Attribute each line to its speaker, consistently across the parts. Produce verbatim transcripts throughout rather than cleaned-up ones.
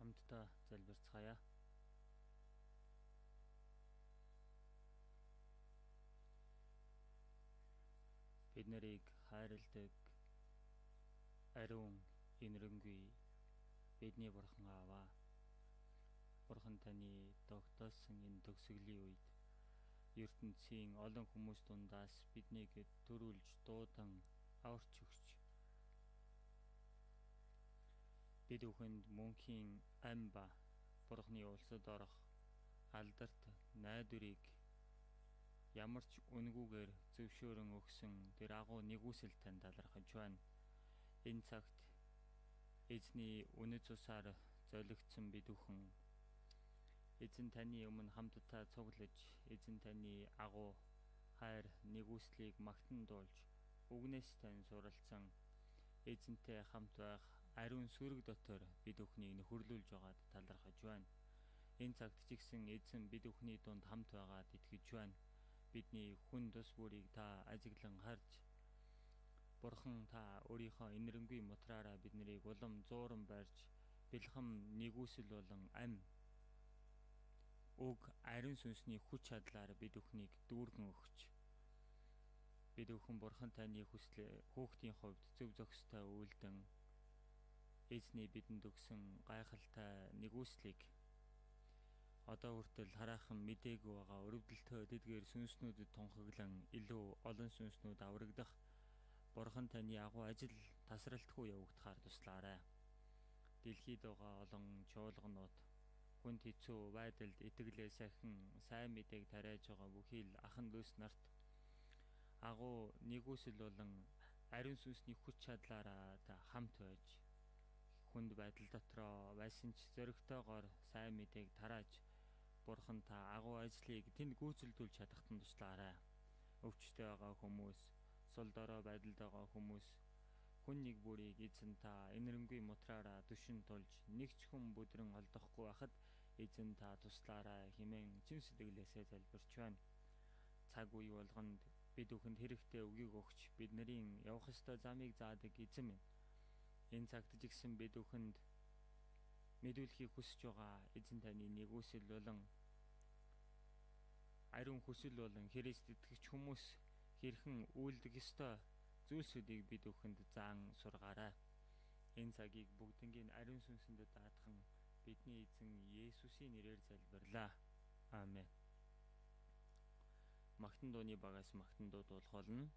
Speaker 1: хамтдаа залбирцгаая. Бид нарыг хайрладаг ариун инэрэнгүй бидний бурхан Аава. Бурхан таны тогтоосон энэ төгсгөлийн үед ертөнцийн олон хүмүүс дундаас биднийг төрүүлж дуудан аварч өгч бид бүхэнд мөнхийн ам ба Бурханы улсад орох алдарт найдварыг ямар ч үнгүүгээр зөвшөөрөн өгсөн тэр агуу нэгүсэл тань талархаж байна. Энэ цагт эзний үнэт цусаар золигдсон бид бүхэн эзэн таны өмнө хамтдаа цуглаж эзэн таны агуу хайр нэгүслийг магтан дуулж үгнээс тань суралцсан эзэнтэй хамт байх ариун сүрэг дотор бид бүхнийг нөхөрлүүлж байгаад талархаж байна. Энэ цагт ч гэсэн эзэн бид бүхний дунд хамт байгаад итгэж байна. Бидний хүн тус бүрийг та ажиглан харж Бурхан та өөрийнхөө инэрэнгүй мутраараа бид нарыг улам зууран барьж бэлхэм нэгүсэл болон ам уг ариун сүнсний хүч чадлаар бид бүхнийг дүүргэн өгч бид бүхэн Бурхан таны хүслээ хүүхдийн хувьд зөв зохистой үйлдэн эзний бидэнд өгсөн гайхалтай нэгүслийг одоо хүртэл хараахан мдээгүй байгаа өрөвдөлтөө дэдгээр сүнснүүдэд тунхаглан илүү олон сүнснүүд аврагдах Бурхан таны агуу ажил тасралтгүй явагдахаар туслаарай. Дэлхийд байгаа олон чуулганууд хүнд хэцүү байдалд итгэлээ сахин сайн мэдээг тариаж байгаа бүхий л ахан дүүс нарт агуу нэгүсэл болон ариун сүнсний хүч чадлаараа та хамт байж хүнд байдал дотроо байсан ч зөрөгтэйгоор сайн мэдээг тарааж Бурхан та агуу ажлыг тэнд гүйцэлдүүлж чадахад нь туслаарай. Өвчтөй байгаа хүмүүс, сул дорой байдалд байгаа хүмүүс, хүн нэг бүрийг эзэн та инэрэнгүй мутраараа түшин тулж нэг ч хүн бүдрэн олдохгүй байхад эзэн та туслаарай хэмээн чин сэтгэлээсээ залбирч байна. Цаг үе болгонд бид бүхэнд хэрэгтэй үгийг өгч бид нарын явах ёстой замыг заадаг эзэн минь. Энэ цагт ч гэсэн бид бүхэнд мэдүүлэхийг хүсэж байгаа эзэн таны нэгүсэл болон ариун хүсэл болон Христ итгэгч хүмүүс хэрхэн үйлдэх ёстой зүйлсүүдийг бид бүхэнд заан сургаарай. Энэ цагийг бүгднийг ариун сүнсэнд даатхан бидний эзэн Есүсийн нэрээр залбирлаа. Аамен. Магтан дууны багаас магтан дуу дуулах болно.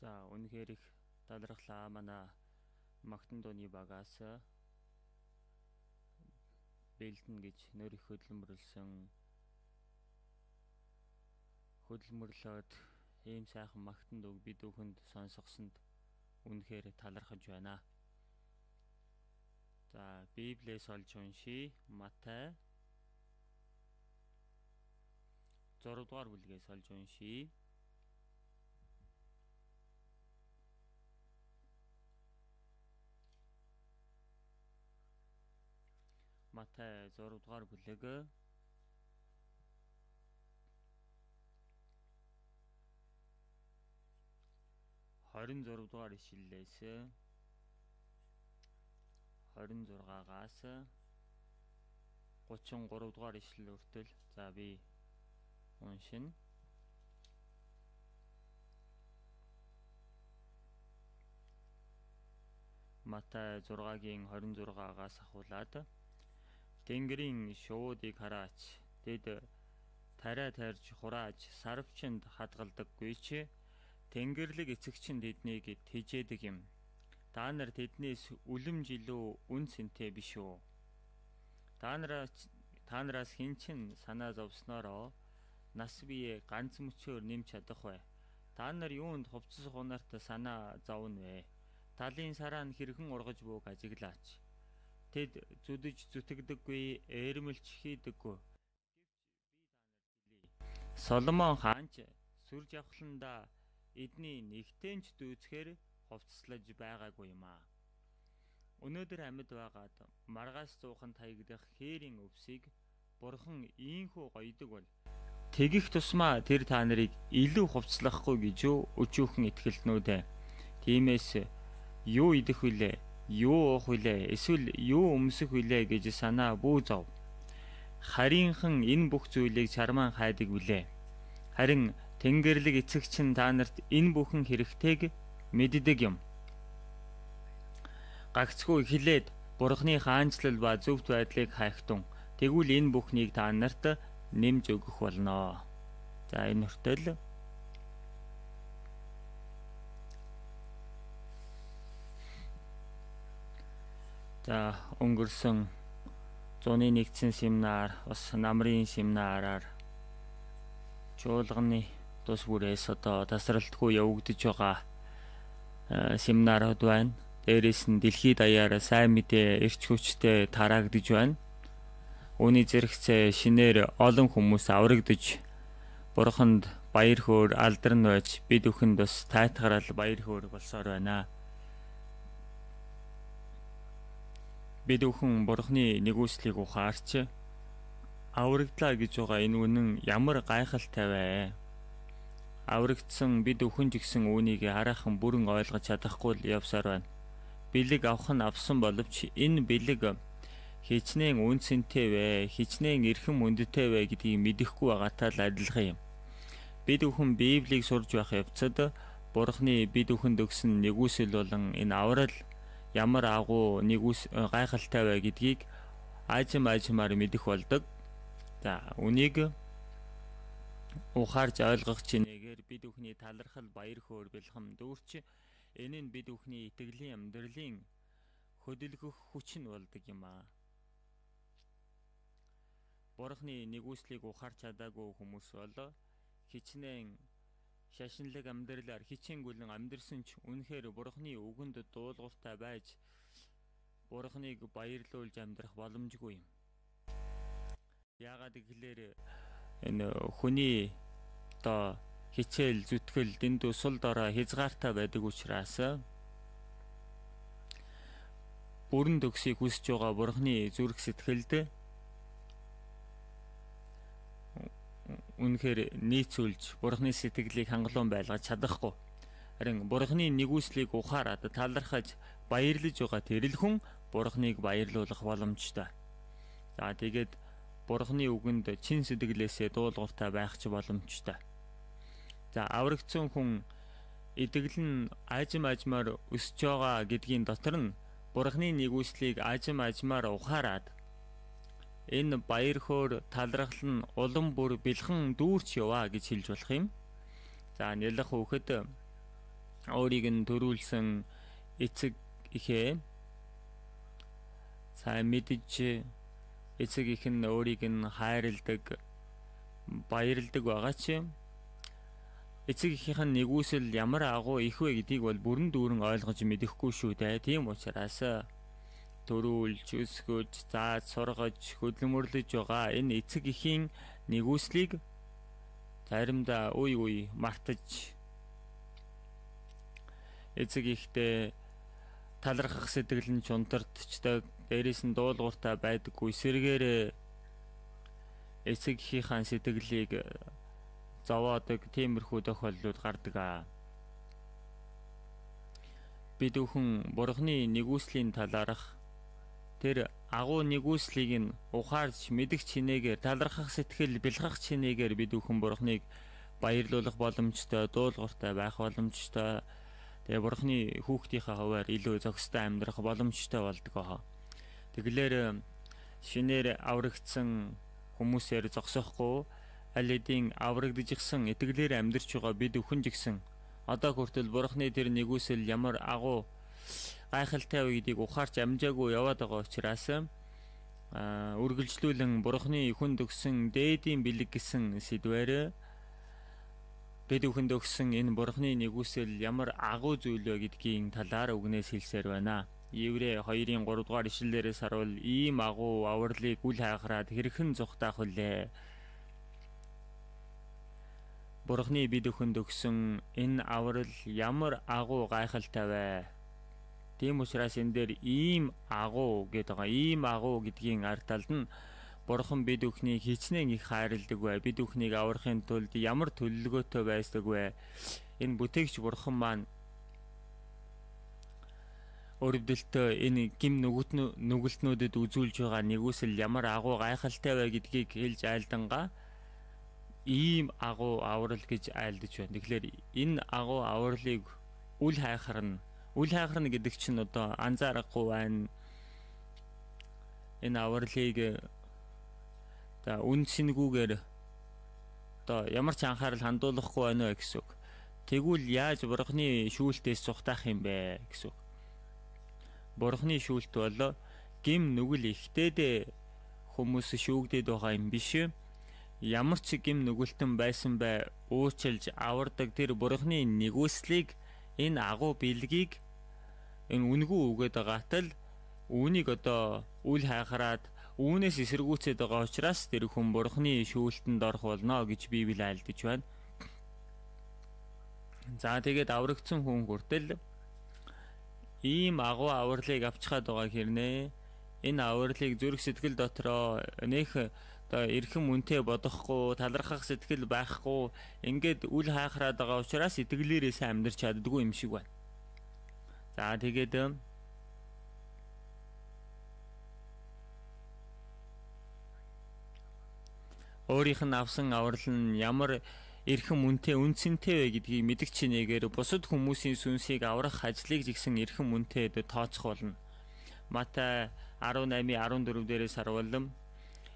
Speaker 1: За үнэхээр их талархлаа манай Магтан дууны багаас бэлдэн гэж нөр их хөдөлмөрлсөн хөдөлмөрлөөд ийм сайхан Магтан дууг бид бүхэнд сонсгосонд үнэхээр талархаж байна. За Библиэс олж уншия. Матай зураг дугаар бүлгээс олж уншия. Матай зураг дугаар бүлэг хорин зураг дугаар ишлэлээс хорин зургаагаас гучин гурав дугаар ишлэл хүртэл за би уншина. Матай зургагийн хорин зургаагаас ахуулаад Тэнгэрийн шуудыг хараач тэд тариа тарьж хурааж сарвчинд хадгалдаггүй ч Тэнгэрлэг эцэгчин тэднийг тэжээдэг юм. Та нар тэднээс үлэмж илүү үн цэнтэй биш үү? Та нараас та нараас хэн ч санаа зовсноороо нас бие ганц мөчөөр нэмж чадах вэ? Та нар юунд хувцас хунарт санаа зовно вэ? Талын сараа нь хэрхэн ургаж бууг ажиглаач. Тэд зүдэж зүтгэдэггүй, ээрмэлч хийдэггүй. Соломон хаанч сүр жавхланда эдний нэгтэнч дүүцхээр хувцаслаж байгаагүй юм аа. Өнөөдөр амьд байгаад маргаас зуухан таягдах хээрийн өвсийг Бурхан ийхүү гоёдаг бол тэгэх тусмаа тэр та нарыг илүү хувцлахгүй гэж юу өчүүхэн итгэлтнүүдэ. Тиймээс юу идэх вүлээ, юу уух вүлээ, эсвэл юу өмсөх вүлээ гэж санаа бүү зов. Харийнхан энэ бүх зүйлийг чармаан хайдаг вүлээ. Харин Тэнгэрлэг эцэгчин та нарт энэ бүхэн хэрэгтэйг мэддэг юм. Гагцгүй эхлээд Бурханы хаанчлал ба зөвхт байдлыг хайхтун. Тэгвэл энэ бүхнийг та нарт нэмж өгөх болно. За энэ хүртэл за өнгөрсөн зуны нэгдсэн семинар бас намрын семинараар чуулганы тус бүрээс одоо тасралтгүй явагдаж байгаа семинарууд байна. Дээрээс нь дэлхийд даяар сайн мэдээ эрч хүчтэй тараагдж байна. Үүний зэрэгцээ шинээр олон хүмүүс аврагдж Бурханд баяр хөөр алдарн байж бид бүхэнд бас тайтгарал баяр хөөр болсоор байна. Бид бүхэн Бурханы нэгүслийг ухаарч аврагдлаа гэж байгаа энэ үнэн ямар гайхалтай вэ? Аврагдсан бид бүхэн ч гэсэн үүнийг хараахан бүрэн ойлгож чадахгүй л явсаар байна. Бэлэг авах нь авсан боловч энэ бэлэг хичнээн үнцэнтэй вэ, хичнээн эрхэм үндэтэй вэ гэдгийг мэдэхгүй байгаатай л адилхан юм. Бид бүхэн Библийг сурж байх явцад Бурханы бид бүхэнд өгсөн нэгүсэл болон энэ аврал ямар агуу нэгүс гайхалтай вэ гэдгийг аажим аажмаар мэдэх болдог. За үнийг ухаарж ойлгох чинээгээр бид бүхний талархал баяр хөөр бэлхэм дүүрч энэ нь бид бүхний итгэлийн амьдралын хөдөлгөх хүч нь болдог юм аа. Бурханы нэгүслийг ухаарч чадаагүй хүмүүс бол хичнээн шашинлаг амьдралаар хичээнгүлэн амьдрсан ч үнэхээр Бурханы үгэнд дуулууртай байж Бурханыг баярлуулж амьдрах боломжгүй юм. Яагаад гэвэл энэ хүний одоо хичээл зүтгэл дэндүү сул дорой хязгаартай байдаг учраас бүрэн төгсийг хүсэж байгаа Бурханы зүрх сэтгэлд үнэхээр нийцүүлж Бурханы сэтгэлийг хангалуун байлгаж чадахгүй. Харин Бурханы нэгүслийг ухаарад талархаж баярлаж байгаа тэрл хүн Бурханыг баярлуулах боломжтой. За тэгээд Бурханы үгэнд чин сэтгэлээсээ дуулууртай байх ч боломжтой. За аврагдсан хүн итгэл нь аажим аажмаар өсөж байгаа гэдгийн дотор нь Бурханы нэгүслийг аажим аажмаар ухаарад энэ баяр хөөр талархал нь улам бүр бэлхэн дүүрч яваа гэж хэлж болох юм. За нялх хүүхэд өөрийг нь төрүүлсэн эцэг ихээ сайн мэдж эцэг их нь өөрийг нь хайрладаг, баярладаг байгаа ч эцэг ихийнх нь нэгүсэл ямар агуу их вэ гэдгийг бол бүрэн дүүрэн ойлгож мэдэхгүй шүү дээ. Тийм учраас төрүүлж, өсгөж, зааж, сургаж, хөдөлмөрлөж байгаа энэ эцэг эхийн нэгүслийг заримдаа үе үе мартаж эцэг ихтэй талархах сэтгэл нь чунтардчдаг, дээрээс нь дуулууртай байдаггүй, сэргээр эцэг эхийнхээ сэтгэлийг зовоодог тиймэрхүү тохиолдлууд гардаг аа. Бид бүхэн Бурхны нэгүслийн талаарх тэр агуу нэгүслийг нь ухаарч мэдэх чинээгээр талархах сэтгэл бэлгах чинээгээр бид бүхэн Бурхныг баярлуулах боломжтой, дуулууртай байх боломжтой. Тэгээ Бурхны хүүхдийнхээ хуваар илүү зохистой амьдрах боломжтой болдог аа. Тэгэлэр шинээр аврагдсан хүмүүсээр зогсохгүй аль хэдийн аврагдчихсан итгэлээр амьдарч байгаа бид бүхэн ч гэсэн одоо хүртэл Бурхны тэр нэгүсэл ямар агуу гайхалтай вэ гэдгийг ухаарч амжаагүй яваад байгаа учраас үргэлжлүүлэн Бурхны хүнд өгсөн дээдийн бэлэг гэсэн сэдвээр бид бүхэнд өгсөн энэ Бурхны нэгүсэл ямар агуу зүйл вэ гэдгийн талаар үгнээс хэлсээр байна. Еврей хоёрын гурав дугаар ишлэлээрээс харуул ийм агуу авралыг үл хайхраад хэрхэн зүхтаах вүлээ. Бурхны бид бүхэнд өгсөн энэ аврал ямар агуу гайхалтай вэ? Тийм учраас энэ дээр ийм агуу гэдэг байгаа. Ийм агуу гэдгийн ард талд нь Бурхан бид бүхнийг хичнээн их хайрладаг вэ? Бид бүхнийг аврахын тулд ямар төлөвлөгөөтэй байсдаг вэ? Энэ бүтээгч Бурхан маань өрөвдөлтөө энэ гим нүгэлтнүүдэд үзүүлж байгаа нэгүсэл ямар агуу гайхалтай вэ гэдгийг хэлж айлдангаа ийм агуу аврал гэж айлдаж байна. Тэгэхээр энэ агуу авралыг үл хайхарна. Үл хайхарна гэдэг чинь одоо анзаарахгүй байна. Энэ авралыг за үнсэнгүүгээр одоо ямар ч анхаарал хандуулахгүй байна вэ гэсэн үг. Тэгвэл яаж Бурхны шүүлтээс зүхтаах юм бэ гэсэн үг. Бурхны шүүлт бол гим нүгэл ихтэйд хүмүүс шүүгдээд байгаа юм биш. Ямар ч гим нүгэлтэн байсан бай уучлж авардаг тэр Бурхны нэгүслийг энэ агуу бэлгийг энэ үнгүү үгээд байгаатай л үүнийг одоо үл хайхраад үүнээс эсэргүүцээд байгаа учраас тэр хүн Бурхны шүүлтэнд орох болно гэж Библи айлдаж байна. За тэгээд аврагдсан хүн хүртэл ийм агуу авралыг авчихад байгаа хэрнээ. Энэ авралыг зүрх сэтгэл дотроо нэх одоо эрхэм үнэтэй бодохгүй, талархах сэтгэл байхгүй ингээд үл хайхраад байгаа учраас итгэлээрээс амьдарч чаддгүй юм шиг байна. За тэгээд өөрийнх нь авсан аврал нь ямар эрхэм үнэтэй үнцэнтэй вэ гэдгийг мэдэх чинээгээр бусад хүмүүсийн сүнсийг аврах ажлыг жигсэн эрхэм үнэтэд тооцох болно. Матай арван восемь арван дөрөв дээрээс харуулсан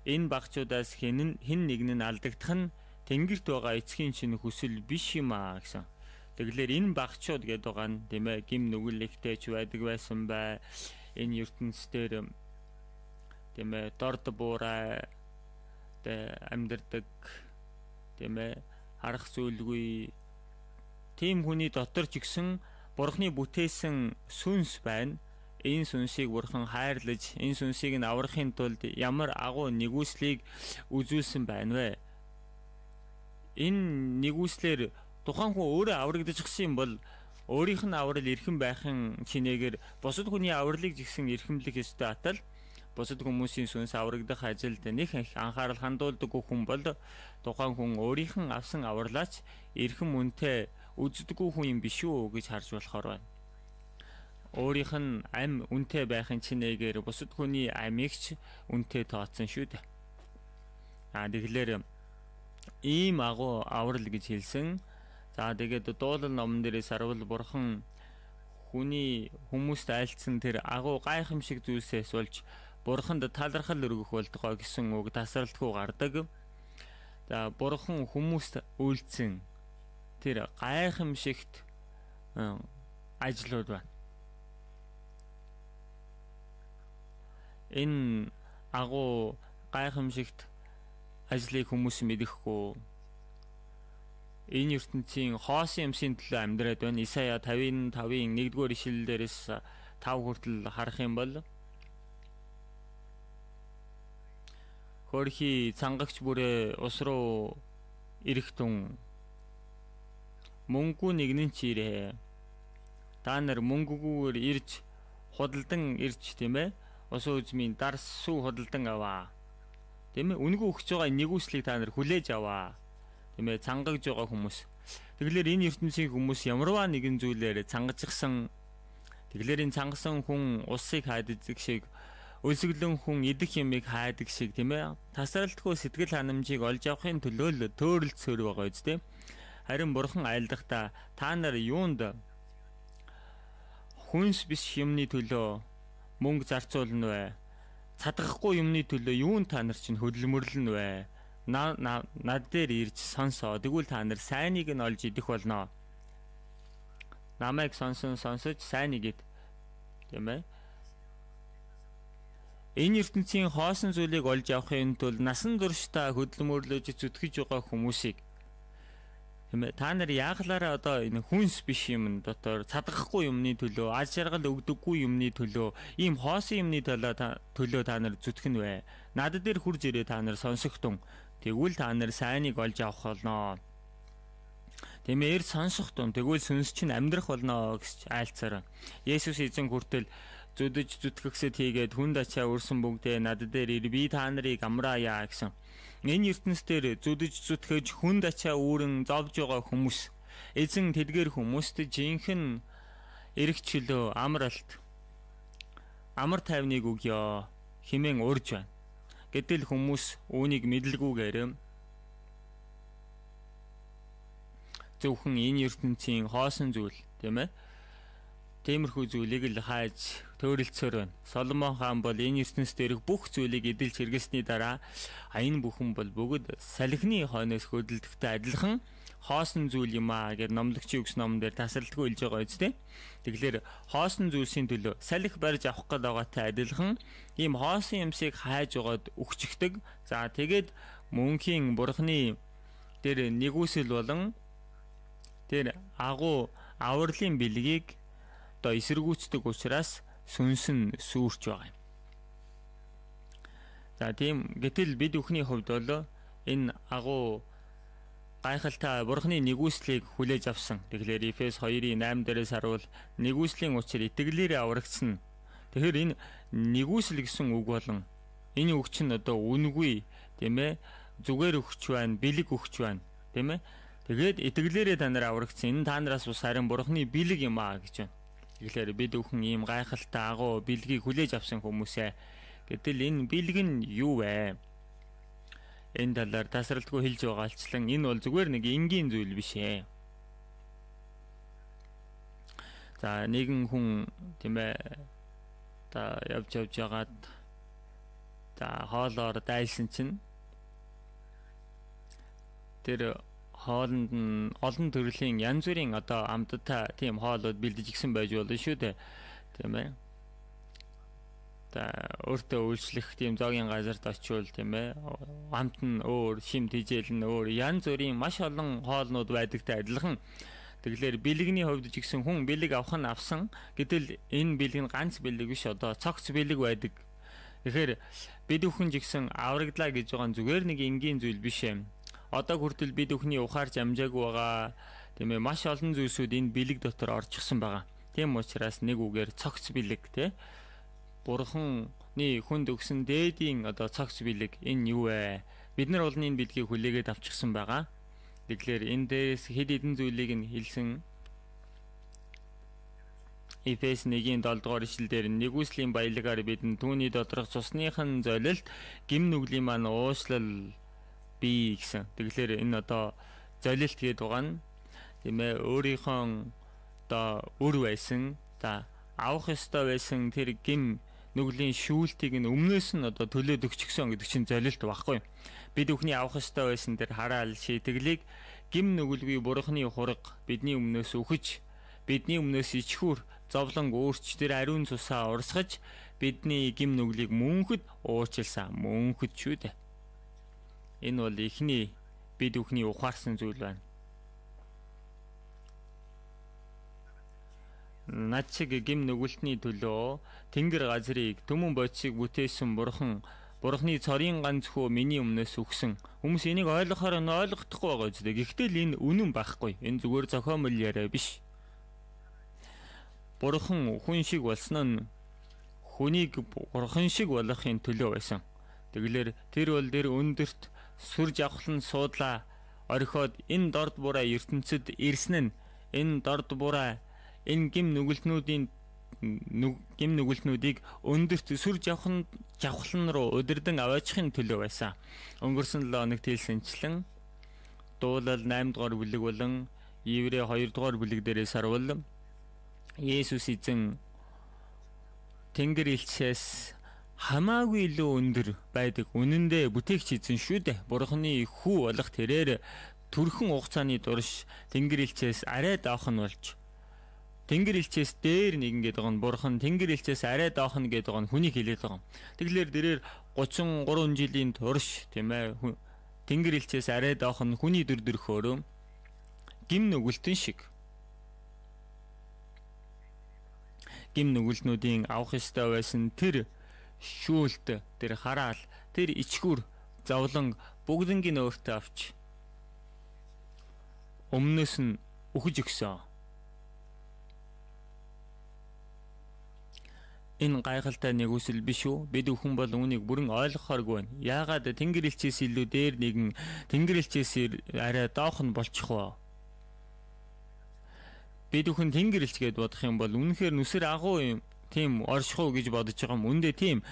Speaker 1: энэ багчуудаас хэн хэн нэг нь алдагдах нь тэнгэрт байгаа эцгийн чинь хүсэл биш юм аа гэсэн. Тэгэлэр энэ багчууд гэдэг байгаа нь тийм ээ гим нүгэлэгтэйч байдаг байсан бай. Энэ ертөнцийн тийм ээ дорд буурай амьдардаг тийм ээ харах зүйлгүй тийм хүний дотор ч гэсэн Бурхны бүтээсэн сүнс байна. Энэ сүнсийг Бурхан хайрлаж, энэ сүнсийг нь аврахын тулд ямар агуу нэгүслийг үзүүлсэн байна вэ? Энэ нэгүслэр тухайн хүн өөрөө аврагдчихсан юм бол өөрийнх нь аврал эрхэм байхын чинээгээр бусад хүний авралыг жигсэн эрхэмлэх ёстой атал бусад хүмүүсийн сүнс аврагдах ажилд нэг их анхаарал хандуулдаггүй хүн бол тухайн хүн өөрийнх нь авсан авралаач эрхэм үнэтэй үздэггүй хүн юм биш үү гэж харж болохоор байна. Өөрийнх нь ам үнэтэй байхын чинээгээр бусад хүний амийг ч үнэтэй тооцсон шүү дээ. Аа тэгэхээр ийм агуу аврал гэж хэлсэн. За тэгээд дуулал номон дээрээс харуул Бурхан хүний хүмүүст айлцсан тэр агуу гайхамшиг зүйлсээс болж Бурханд талархал өргөх болтгоо гэсэн үг тасралтгүй гардаг. За Бурхан хүмүүст үйлцэн тэр гайхамшигт ажлууд байна. Энэ агуу гайхамшигт ажлыг хүмүүс мэдэхгүй. Энэ ертөнцийн хоосон юмсийн төлөө амьдраад байна. Исая фifty five-ийн нэгдүгээр ишлэлдээс five хүртэл харах юм бол хөрхи цангагч бүрээ ус руу ирэхтун мөнгө нэгнэн ч ирээ. Та нар мөнгөгүйгээр ирж худалдан ирж тийм ээ. Ус үзмийн дарс сүү худалдан аваа. Тийм ээ. Үнгүй өгч байгаа нэгүслийг та нар хүлээж аваа. Тийм ээ. Цангагж байгаа хүмүүс. Тэгэлэр энэ ертөнцийн хүмүүс ямарваа нэгэн зүйлээр цангажсан. Тэгэлэр энэ цангасан хүн усыг хайдаг шиг өлсгөлөн хүн идэх юмыг хайдаг шиг тийм ээ. Тасралтгүй сэтгэл ханамжийг олж авахын төлөө л төөрөлцөөр байгаа үстэй. Харин бурхан айлдахдаа та нар юунд хүнс биш юмны төлөө мөнгө зарцуулна вэ? Цадгахгүй юмны төлөө юунд та нар чинь хөдөлмөрлөн вэ? Над дээр ирж сонсоо. Тэгвэл та нар сайныг нь олж идэх болно. Намайг сонсон сонсож сайныг ид. Тийм ээ. Энэ ертөнцийн хоосон зүйлийг олж авахын тулд насан туршдаа хөдөлмөрлөж зүтгэж байгаа хүмүүсийг тийм ээ. Та нар яаглаараа одоо энэ хүнс биш юм дотор цадгахгүй юмны төлөө, аз жаргал өгдөггүй юмны төлөө, ийм хоосон юмны төлөө төлөө та нар зүтгэн вэ? Над дээр хурж ирээ та нар сонсогтун. Тэгвэл та нар сайныг олж авах болно. Тийм ээ, сонсохтун. Тэгвэл сүнс чинь амьдрах болно гэж айлцаар. Есүс эзэн хүртэл зүдэж зүтгэгсэд хийгээд хүнд ачаа өрсөн бүгдээ над дээр ир би та нарыг амраая гэсэн. Энэ ертөнцийн зүдэж зүтгэж хүнд ачаа үүрэн зовж байгаа хүмүүс. Эзэн тэдгээр хүмүүст жинхэнэ эргчлөө амралт амар тайвныг өгье хэмээн урьж байна. Гэтэл хүмүүс үүнийг мэдлгүйгээр зөвхөн энэ ертөнцийн хоосон зүйл тийм ээ. Тиймэрхүү зүйлийг л хайж төөрөлцөөр байна. Соломон хаан бол энэ ертөнцийн дээрх бүх зүйлийг эдэлж хэрэгсэний дараа энэ бүхэн бол бүгд салхины хойноос хөдөлдөгтэй адилхан хоосон зүйл юм аа гэж номлогчийн өгс номон дээр тасралтгүй хэлж байгаа үстэй. Тэгэхээр хоосон зүйлсийн төлөө салхи барьж авах гээд байгаатай адилхан ийм хоосон юмсыг хайж байгаад өгчгдөг. За тэгээд мөнхийн бурхны дээр нэгүсэл болон тэр агуу авралын бэлгийг одоо эсэргүүцдэг учраас сүнс нь сүрч байгаа юм. За тийм гэтэл бид бүхний хувьд бол энэ агуу гайхалтай бурхны нэгүслийг хүлээж авсан. Тэгэхээр Эфес two-ийн eight дээрээс харуул нэгүслийн учир итгэлээрээ аврагдсан. Тэгэхээр энэ нэгүсэл гэсэн үг болон энэ үг чинь одоо үнгүй тийм ээ зүгээр өгч байна, бэлэг өгч байна тийм ээ. Тэгээд итгэлээрээ та нар аврагдсан. Энэ та нараас ус харин бурхны бэлэг юм аа гэж байна. Тэгэхээр бид бүхэн ийм гайхалтай агуу бэлгийг хүлээж авсан хүмүүсээ. Гэтэл энэ бэлэг нь юу вэ? Энэ талаар тасралтгүй хэлж байгаачлан энэ бол зүгээр нэг энгийн зүйл биш ээ. За нэгэн хүн тийм ээ та явж явж ягаад за хоолоор дайсан чинь тэр хоолнд нь олон төрлийн янз бүрийн одоо амттай тийм хоолууд бэлдэж гисэн байж болно шүү дээ. Тийм ээ. Та өөртөө үйлчлэх тийм зоогийн газарт очивол тийм ээ. Амт нь өөр, шим тижэл нь өөр, янз бүрийн маш олон хоолнууд байдагтай адилхан. Тэгэхээр бэлэгний хувьд ч гэсэн хүн бэлэг авах нь авсан. Гэтэл энэ бэлэг нь ганц бэлэг биш одоо цогц бэлэг байдаг. Тэгэхээр бид бүхэн ч гэсэн аврагдлаа гэж байгаа нь зүгээр нэг энгийн зүйл биш юм. Одоо хүртэл бид бүхний ухаарч амжаагүй байгаа тийм ээ маш олон зүйлсүүд энэ бэлэг дотор орчихсон байгаа. Тийм учраас нэг үгээр цогц бэлэг тий. Бурханы хүнд өгсөн дээдийн одоо цогц бэлэг энэ юу вэ? Бид нар бол энэ бэлгийг хүлээгээд авчихсан байгаа. Тэгэхээр энэ дээрээс хэд хэдэн зүйлийг нь хэлсэн. Эфес one-ийн seven дугаар ишлэлээр нэгүслийн баялагаар бидэнд түүний доторх цусныхан золилт гим нүглийн маань уушлал бий гэсэн. Тэгэхээр энэ одоо золилт гэдэг байгаа нь тийм ээ өөрийнхөө одоо үр байсан за авах ёстой байсан тэр гим нүглийн шүүлтийг нь өмнөөс нь одоо төлөөд өгчихсөн гэдэг чинь золилт багхгүй. Бид бүхний авах ёстой байсан тэр хараал шийтгэлийг гим нүгэлгүй бурхны хураг бидний өмнөөс өгч бидний өмнөөс ичхүр зовлон өөрч тэр ариун цусаа урсгаж бидний гим нүглийг мөнхөд уучлсан мөнхөд шүү дээ. Энэ бол ихний бид бүхний ухаарсан зүйл байна. Над шиг гим нүгэлтний төлөө тэнгэр газрыг төмөн бодисыг бүтээсэн бурхан Бурхны цорын ганц хүү миний өмнөөс өгсөн. Хүмүүс энийг ойлгохоор нь ойлгохдохгүй байгаа үстэй. Гэхдээ энэ үнэн байхгүй. Энэ зүгээр зохиомжтой яриа биш. Бурхан хүн шиг болсон нь хүнийг бурхан шиг болгохын төлөө байсан. Тэгэлэр тэр бол тэр өндөрт сүр жавхлан суудлаа орхиод энэ дорд бураа ертөнцид ирсэн нь энэ дорд бураа энэ гим нүгэлтнүүдийн гим нүгэлтнүүдийг өндөрт сүр жавхан жавхлан руу удирдан аваачихын төлөө байсан. Өнгөрсөн лоо хоногт хэлсэнчлэн дуулал наймд дугаар бүлэг болон Еврей хоёр дугаар бүлэг дээрээс харвал Есүс эзэн Тэнгэр элчээс хамаагүй илүү өндөр байдаг үнэндээ бүтээгч эзэн шүү дээ. Бурхны хүү болох тэрээр төрхөн хугацааны турш Тэнгэр элчээс арай даах нь болж Тэнгэр элчээс дээр нэгэн гэдэг нь бурхан Тэнгэр элчээс арай даах нь гэдэг нь хүнийг хэлээд байгаа. Тэгэлэр дээрэр гучин гурван жилийн турш тийм ээ Тэнгэр элчээс арай даах нь хүний дүр төрхөөр гим нүгэлтэн шиг гим нүгэлтнүүдийн авах ёстой байсан тэр шүүлт тэр хараал тэр ичхүр зовлон бүгднийг өөртөө авч өмнөөс нь өгж өгсөн. Энэ гайхалтай нэгүсэл биш үү? Бид бүхэн бол үүнийг бүрэн ойлгохооргүй байна. Яагаад Тэнгэр элчээс илүү дээр нэгэн Тэнгэр элчээс арай доох нь болчих вэ? Бид бүхэн Тэнгэр элч гэдээ бодох юм бол үнэхээр нүсэр агуу юм. Тийм оршихуу гэж бодож байгаа юм. Үндэ тийм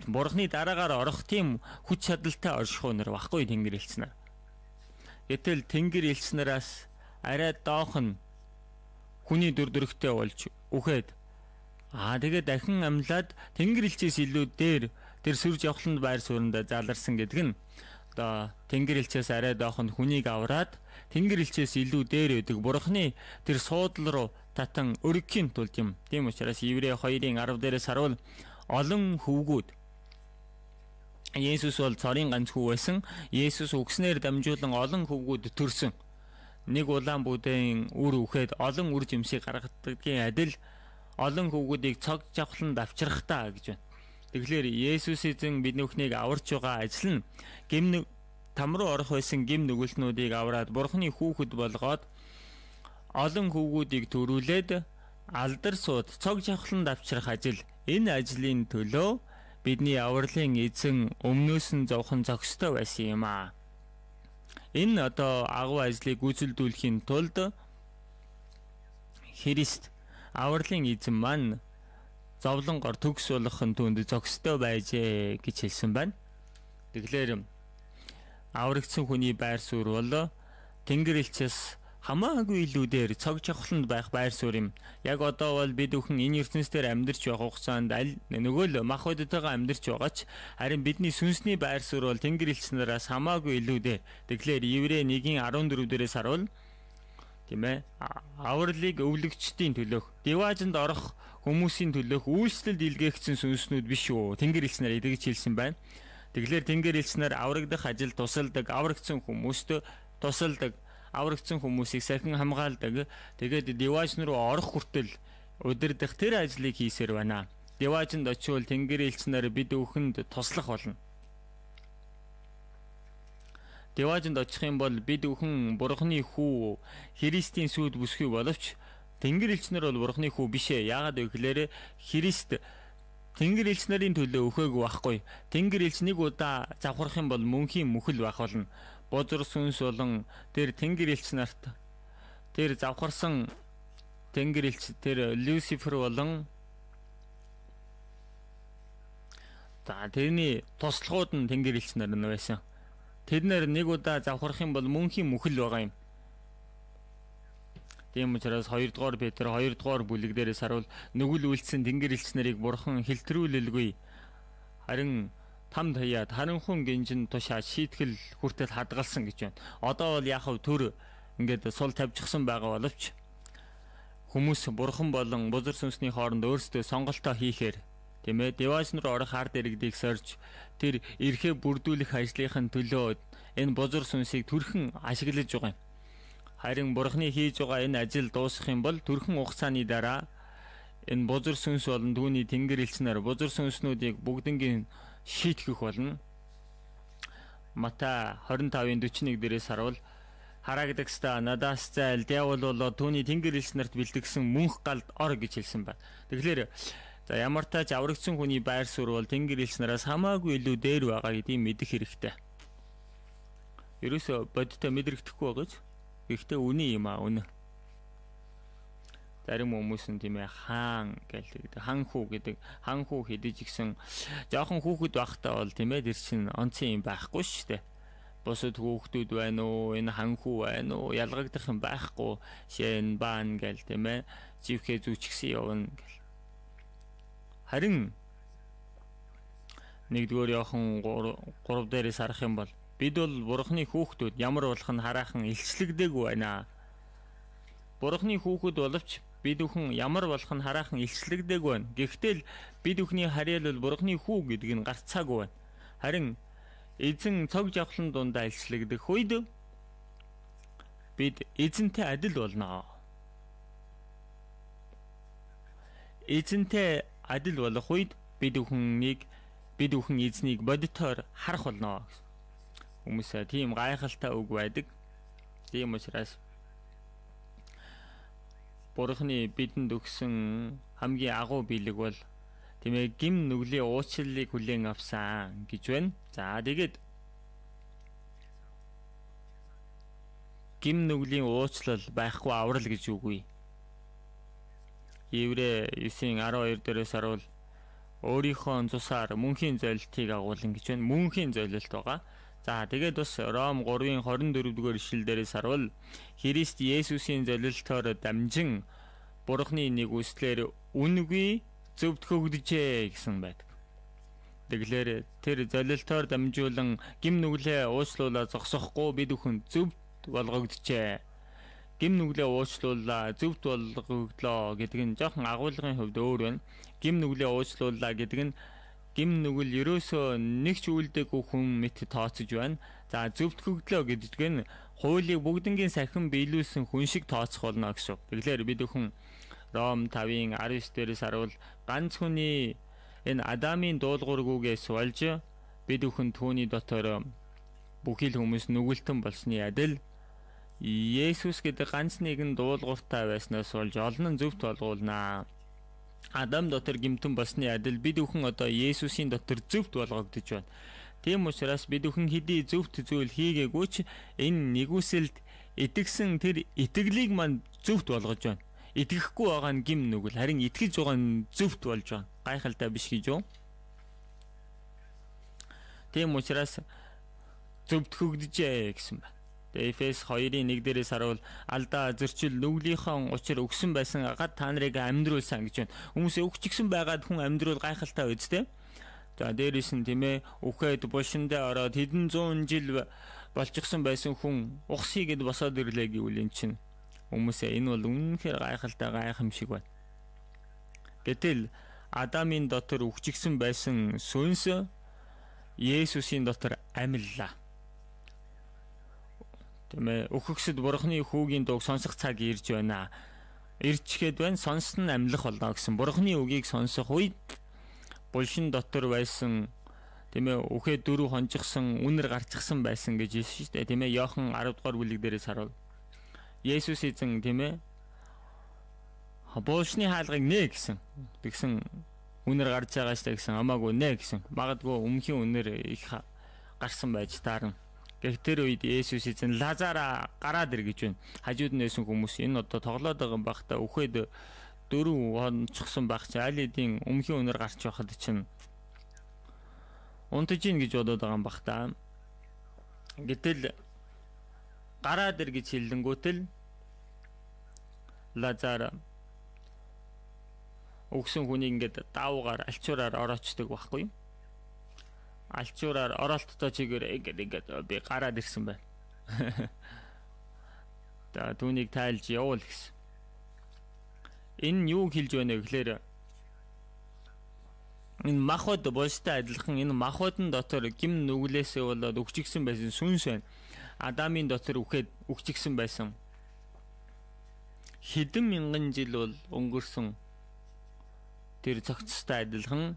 Speaker 1: бурхны дараагаар орох тийм хүч чадалтай оршихуу нар баггүй Тэнгэр элч нар. Гэтэл Тэнгэр элч нараас арай доох нь хүний дүр төрхтэй болж үхээд аа тэгээд дахин амьлаад Тэнгэр элчээс илүү дээр тэр сүр жавхланд байр суурьнд заларсан гэдэг нь одоо Тэнгэр элчээс арай доох нь хүнийг авраад Тэнгэр элчээс илүү дээр байдаг бурхны тэр суудлал руу татан өргөхийн тулд юм. Тийм учраас Еврей хоёрын арав дээрээс харуул олон хөвгүүд Есүс бол цорын ганц хүү байсан. Есүс үгснээр дамжуулан олон хөвгүүд төрсөн. Нэг улаан бүдээн үр үхээд олон үр жимсийг гаргадаггийн адил олон хөвгүүдийг цог жавхланд авчрахтаа гэж байна. Тэгэхээр Есүс эзэн бидний бүхнийг аварч байгаа ажил нь гим там руу орох байсан гим нүгэлтнүүдийг авраад бурхны хүүхэд болгоод олон хөвгүүдийг төрүүлээд алдар сууд цог жавхланд авчрах ажил. Энэ ажлын төлөө бидний авралын эзэн өмнөөс нь зовхон зохистой байсан юм аа. Энэ одоо агуу ажлыг гүйцэлдүүлэхийн тулд Христ авралын эзэн маань зовлонгоор төгс болохын түнд зохистой байжээ гэж хэлсэн байна. Тэгэхээр аврагдсан хүний байр суурь бол Тэнгэр элчээс хамаагүй илүү дээр цог жавхланд байх байр суурь юм. Яг одоо бол бид бүхэн энэ ертөнцийн амьдарч байх хугацаанд аль нөгөө л мах бодтойгоо амьдарч байгаач харин бидний сүнсний байр суурь бол Тэнгэр элч нараас хамаагүй илүү дээр. Тэгэхээр Еврей нэгэн арван дөрөв дээрээс харуул тийм ээ авралыг өвлөгчдийн төлөөх диваажинд орох хүмүүсийн төлөөх үйлчлэлд илгээгдсэн сүнснүүд биш үү? Тэнгэр элч нар эдгэж хэлсэн байна. Тэгэхээр Тэнгэр элч нар аврагдах ажил тусалдаг, аврагдсан хүмүүст тусалдаг, аврагдсан хүмүүсийг сахин хамгаалдаг. Тэгээд дивааж руу орох хүртэл удирдах тэр ажлыг хийсээр байна. Диваажинд очивол Тэнгэр элч нар бид бүхэнд туслах болно. Диваажинд очих юм бол бид бүхэн бурхны хүү Христийн сүд бүсгүй боловч Тэнгэр элч нар бол бурхны хүү биш ээ. Яагаад вэ гэхээр Христ Тэнгэр элч нарын төлөө өхөөг байхгүй. Тэнгэр элч нэг удаа завхарах юм бол мөнхийн мөхөл байх болно. Бозор сүнс болон тэр Тэнгэр элч нарт тэр завхарсан Тэнгэр элч тэр Люцифер болон за тэрний туслахууд нь Тэнгэр элч нар нь байсан. Тэд нэр нэг удаа завхарах юм бол мөнхийн мөхөл байгаа юм. Тийм учраас хоёр дугаар Петр хоёр дугаар бүлэг дээрээс харуул нүгэл үйлцсэн Тэнгэр элч нарыг бурхан хэлтрүүлэлгүй харин там таяад харанхуун гинжин тушаа шийтгэл хүртэл хадгалсан гэж байна. Одоо бол яхав төр ингээд сул тавьчихсан байгаа боловч хүмүүс бурхан болон бузар сүнсний хооронд өөрсдөө сонголтоо хийхээр тийм ээ девайс руу орох ард иргэдийг сорж тэр эрхээ бүрдүүлэх ажлынхын төлөө энэ бузар сүнсийг түрхэн ашиглаж байгаа юм. Харин бурханы хийж байгаа энэ ажил дуусах юм бол түрхэн хугацааны дараа энэ бузар сүнс болон түүний тэнгэр элчнэр бузар сүнснүүдийг бүгднгийн шийтгэх болно. Матай двадцать five forty-one дээрээс харуул харагдагста надаас зайл диавол болоо түүний тэнгэр элчнэрт бэлтгэсэн мөнх галд ор гэж хэлсэн байна. Тэгэхээр за ямар тач аврагдсан хүний байр суурь бол тэнгэр элчнэраас хамаагүй илүү дээр байгаа гэдгийг мэдэх хэрэгтэй. Ерөөсө бодтой мэдрэгдэхгүй байгаач. Гэхдээ үний юм аа үнэ. Зарим хүмүүс нь тийм ээ хаан гэдэг хан хүү гэдэг хан хүү хэдэж гисэн жоохон хүүхэд байхдаа бол тийм ээ тэр чин онцын юм байхгүй шүү дээ. Босод хүүхдүүд байна уу, энэ хан хүү байна уу, ялгагдах юм байхгүй. Шэн баан гэл тийм ээ живхээ зүүчгсэн явна гэл. Харин нэгдүгээр яхан гурав дээрээс харах юм бол бид бол бурхны хүүхдүүд ямар болох нь хараахан илчлэгдээгүй байна. Бурхны хүүхэд боловч бид бүхэн ямар болох нь хараахан илчлэгдээгүй байна. Гэхдээ л бид бүхний харьяал бол бурхны хүү гэдэг нь гарцаагүй байна. Харин эзэн цог жавхлан дундаа илчлэгдэх үед бид эзэнтэй адил болно. Эзэнтэй адил болох үед бид бүхнийг бид бүхэн эзнийг бодитоор харах болно. Хүмүүсээ тийм гайхалтай үг байдаг. Тийм учраас бурхны бидэнд өгсөн хамгийн агуу биелэг бол тийм ээ гим нүглийн уучлалыг хүлээн авсан гэж байна. За тэгээд гим нүглийн уучлал байхгүй аврал гэж үгүй. Еврэ nine twelve дээрээс харуул өөрийнхөө цусаар мөнхийн золилтыг агуулна гэж байна. Мөнхийн золилт байгаа. За тэгээд бас Ром three twenty-four дугаар ишлэл дээрээс харуул Христ Есүсийн золилтоор дамжин бурхны нэг үслээр үнгүй зөвд хөгдөжээ гэсэн байдаг. Тэгэхээр тэр золилтоор дамжуулан гим нүглээ уучлуулаа зогсохгүй бид бүхэн зөвд болгогджээ. Гим нүглээ уучлуулаа зөвд болгогдлоо гэдэг нь жоохон агуулгын хувьд өөр байна. Гим нүглээ уучлуулаа гэдэг нь гим нүгэл ерөөсөө нэг ч үйлдэггүй хүн мэт тооцож байна. За зөвд хөгдлөө гэдэг нь хуулийг бүгднгийн сахин биелүүлсэн хүн шиг тооцох болно гэсэн. Тэгэхээр бид бүхэн Ром five nineteen дээрээс харуул ганц хүний энэ Адамын дуулуургүйгээс болж бид бүхэн түүний дотор бүхий л хүмүүс нүгэлтэн болсны адил Есүс гэдэг ганц нэгэн дуулууртай байснаас болж олон нь зөвд болгуулнаа. Адам дотор гимтэн болсны адил бид бүхэн одоо Есүсийн дотор зөвд болгогдож байна. Тийм учраас бид бүхэн хэдий зөвхт зүйл хийгээгүй ч энэ нэгүсэлд итгэсэн тэр итгэлийг мань зөвхт болгож байна. Итгэхгүй байгаа нь гим нүгэл, харин итгэж байгаа нь зөвхт болж байна. Гайхалтай биш гэж юу? Тийм учраас зөвхт хөгдөжээ гэсэн байна. Эфес two one дээрээс харуул алдаа зөрчил нүглийнхаа учир өгсөн байсан гад та нарыг амьдруулсан гэж байна. Хүмүүсээ өгчихсэн байгаад хүн амьдруул гайхалтай үстэй. За дээрээс нь тийм ээ үхээд булшиндаа ороод хэдэн зуун жил болчихсон байсан хүн ухсыгэд босоод ирлээ гэвэл эн чинь хүмүүсээ энэ бол үнэнхээр гайхалтай гайхамшиг байна. Гэтэл Адамын дотор үхчихсэн байсан сүнс Есүсийн дотор амиллаа. Тэмээ өөхөксөд бурхны хүүгийн дууг сонсох цаг ирж байна. Ирчгээд байна, сонсон нь амьлах болно гэсэн. Бурхны үгийг сонсох үед булшин дотор байсан тэмээ үхээ дөрөв хонжихсан үнэр гарчихсан байсан гэж хэлсэн шүү дээ. Тэмээ Иохан ten дугаар бүлэг дээрээс харуул. Есүс эзэн тэмээ булшны хаалгыг нэ гэсэн. Тэгсэн үнэр гарч байгаа шүү дээ гэсэн. Амаагүй нэ гэсэн. Магадгүй өмнхийн үнэр их гарсан байж таарна. Тэр үед Есүс эзэн Лазара гараад ир гэж байна. Хажууд нь байсан хүмүүс энэ одоо тоглоод байгаа юм бахта үхээд дөрөв хонцсон байх чи аль хэдийн өмнхийн өнөр гарч байхад чинь унтаж ийн гэж бодоод байгаа юм бахта. Гэтэл гараад ир гэж хэлэнгүүтэл Лазар өгсөн хүнийг ингээд даавгаар альчуураар ороочдөг байхгүй юу? Альчуураар оролттой чигээр ингээд ингээд би гараад ирсэн байна. Та түүнийг тайлж явуул гэсэн. Энэ юу хэлж байна гэхээр энэ махбод болстой адилхан энэ махбодын дотор гим нүглээсээ болоод өгчгсөн байсан сүнс байна. Адамын дотор үхээд өгчгсөн байсан. Хэдэн мянган жил бол өнгөрсөн тэр цогцтой адилхан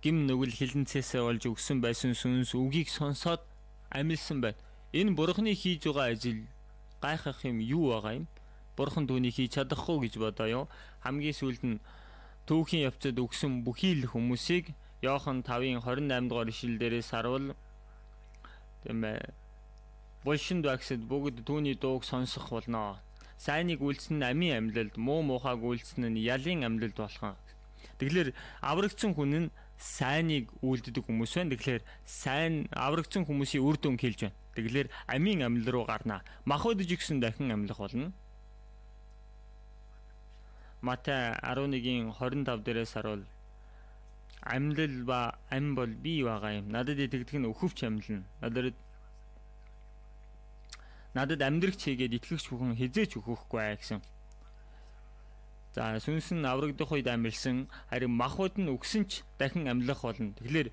Speaker 1: гим нүгэл хилэнцээсээ болж өгсөн байсан сүнс үгийг сонсоод амилсан байна. Энэ бурхны хийж байгаа ажил гайхах юм юу байгаа юм? Бурхан түүнийг хийж чадахгүй гэж бодоё. Хамгийн сүүлд нь түүхийн явцад өгсөн бүхий л хүмүүсийг Иохан тавын двадцать eight дугаар ишлэл дээрээс харуул тийм ээ булшинд багсад бүгд түүний дууг сонсох болно. Сайныг үйлснэ нь амийн амьлалд, муу муухайг үйлснэ нь ялын амьлалд болох. Тэгэхээр аврагдсан хүн нь сайныг үйлддэг хүмүүс байна. Тэгэхээр сайн аврагдсан хүмүүсийн үр дүн хэлж байна. Тэгэхээр амийн амьлал руу гарна. Махбодж гисэн дахин амьлах болно. Матай eleven-ийн twenty-five дээрээс харуул амьлал ба ам бол бий байгаа юм. Надад итгэдэг нь өхөвч амьлна. Надад надад амьдрах чигээд итгэгч бүхэн хизээч өхөхгүй гэсэн. За сүнс нь аврагдах үед амьлсан, харин махбод нь өгсөн ч дахин амьлах болно. Тэгэхээр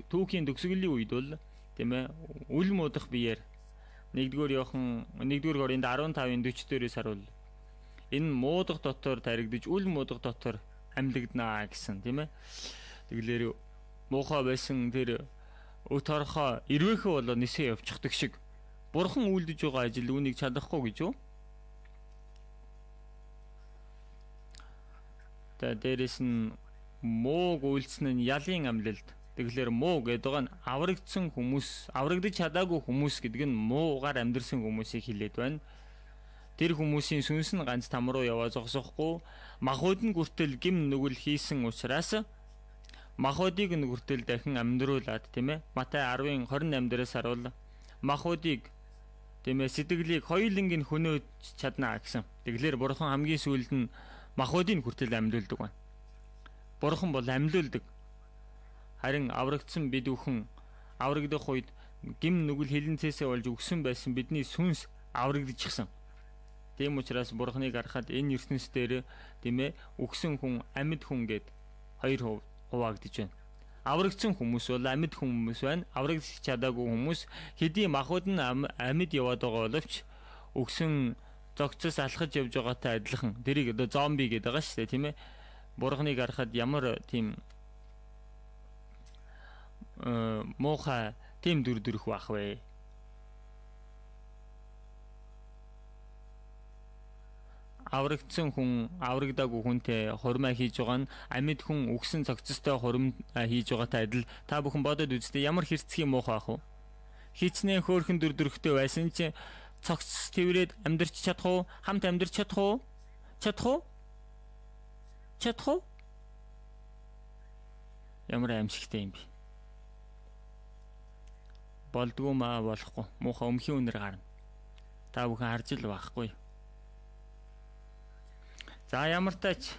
Speaker 1: түүхийн төгсгөлийн үед бол тийм ээ үл муудах биеэр нэгдүгээр Иохан нэгдүгээр Коринт fifteen forty дээрээс харуул энэ муудах дотор таригдж үл муудах дотор амьлагднаа гэсэн тийм ээ. Тэгэлэр муухай байсан тэр өт орхоо ирвэхэ болоо нисээ явчихдаг шиг бурхан үйлдэж байгаа ажил үүнийг чадахгүй гэж юу? Тэ дээрэс нь мууг үйлснэ нь ялын амьлалд. Тэгэхээр муу гэдэг нь аврагдсан хүмүүс, аврагдаж чадаагүй хүмүүс гэдэг нь муугаар амьдэрсэн хүмүүсийг хэлээд байна. Тэр хүмүүсийн сүнс нь ганц там руу яваа зогсохгүй, махбод нь хүртэл гим нүгэл хийсэн учраас махбодыг нь хүртэл дахин амьдруулад тийм ээ. Матай ten twenty-eight дээрээс харуул махбодыг тийм ээ сэтгэлийг хоёуланг нь хөнөөж чадна гэсэн. Тэгэхээр бурхан хамгийн сүүлд нь махбодыг хүртэл амьдуулдаг байна. Бурхан бол амьдуулдаг. Харин аврагдсан бид бүхэн аврагдах үед гим нүгэл хилэнцээсээ болж өгсөн байсан бидний сүнс аврагдчихсан. Тийм учраас бурхныг харахад энэ ертөнц дээр тийм ээ өгсөн хүн амьд хүн гэд хоёр хуваагдж байна. Аврагдсан хүмүүс бол амьд хүмүүс байна. Аврагдах чадаагүй хүмүүс хэдий махбод нь амьд яваад байгаа боловч өгсөн зогцос алхаж явж байгаатай адилхан. Тэрийг одоо зомби гэдэг байгаа шүү дээ тийм ээ. Бурхныг харахад ямар тийм муухай тийм дүр төрх байх вэ? Аврагдсан хүн аврагдаагүй хүнтэй хурмаа хийж байгаа нь амьд хүн өгсөн цогцостой хурм хийж байгаатай адил. Та бүхэн бодоод үзтээ ямар хэрцгий муухай ах вэ? Хичнээн хөөрхөн дүр төрхтэй байсан чи цогцос тэрвэрэд амьдрч чадах уу? Хамт амьдрч чадах уу? Чадах уу? Чадах уу? Ямар аимшигтай юм бэ? Болдгоо маа болохгүй. Муухай өмхийн үнэр гарна. Та бүхэн харж л байхгүй. За ямар тач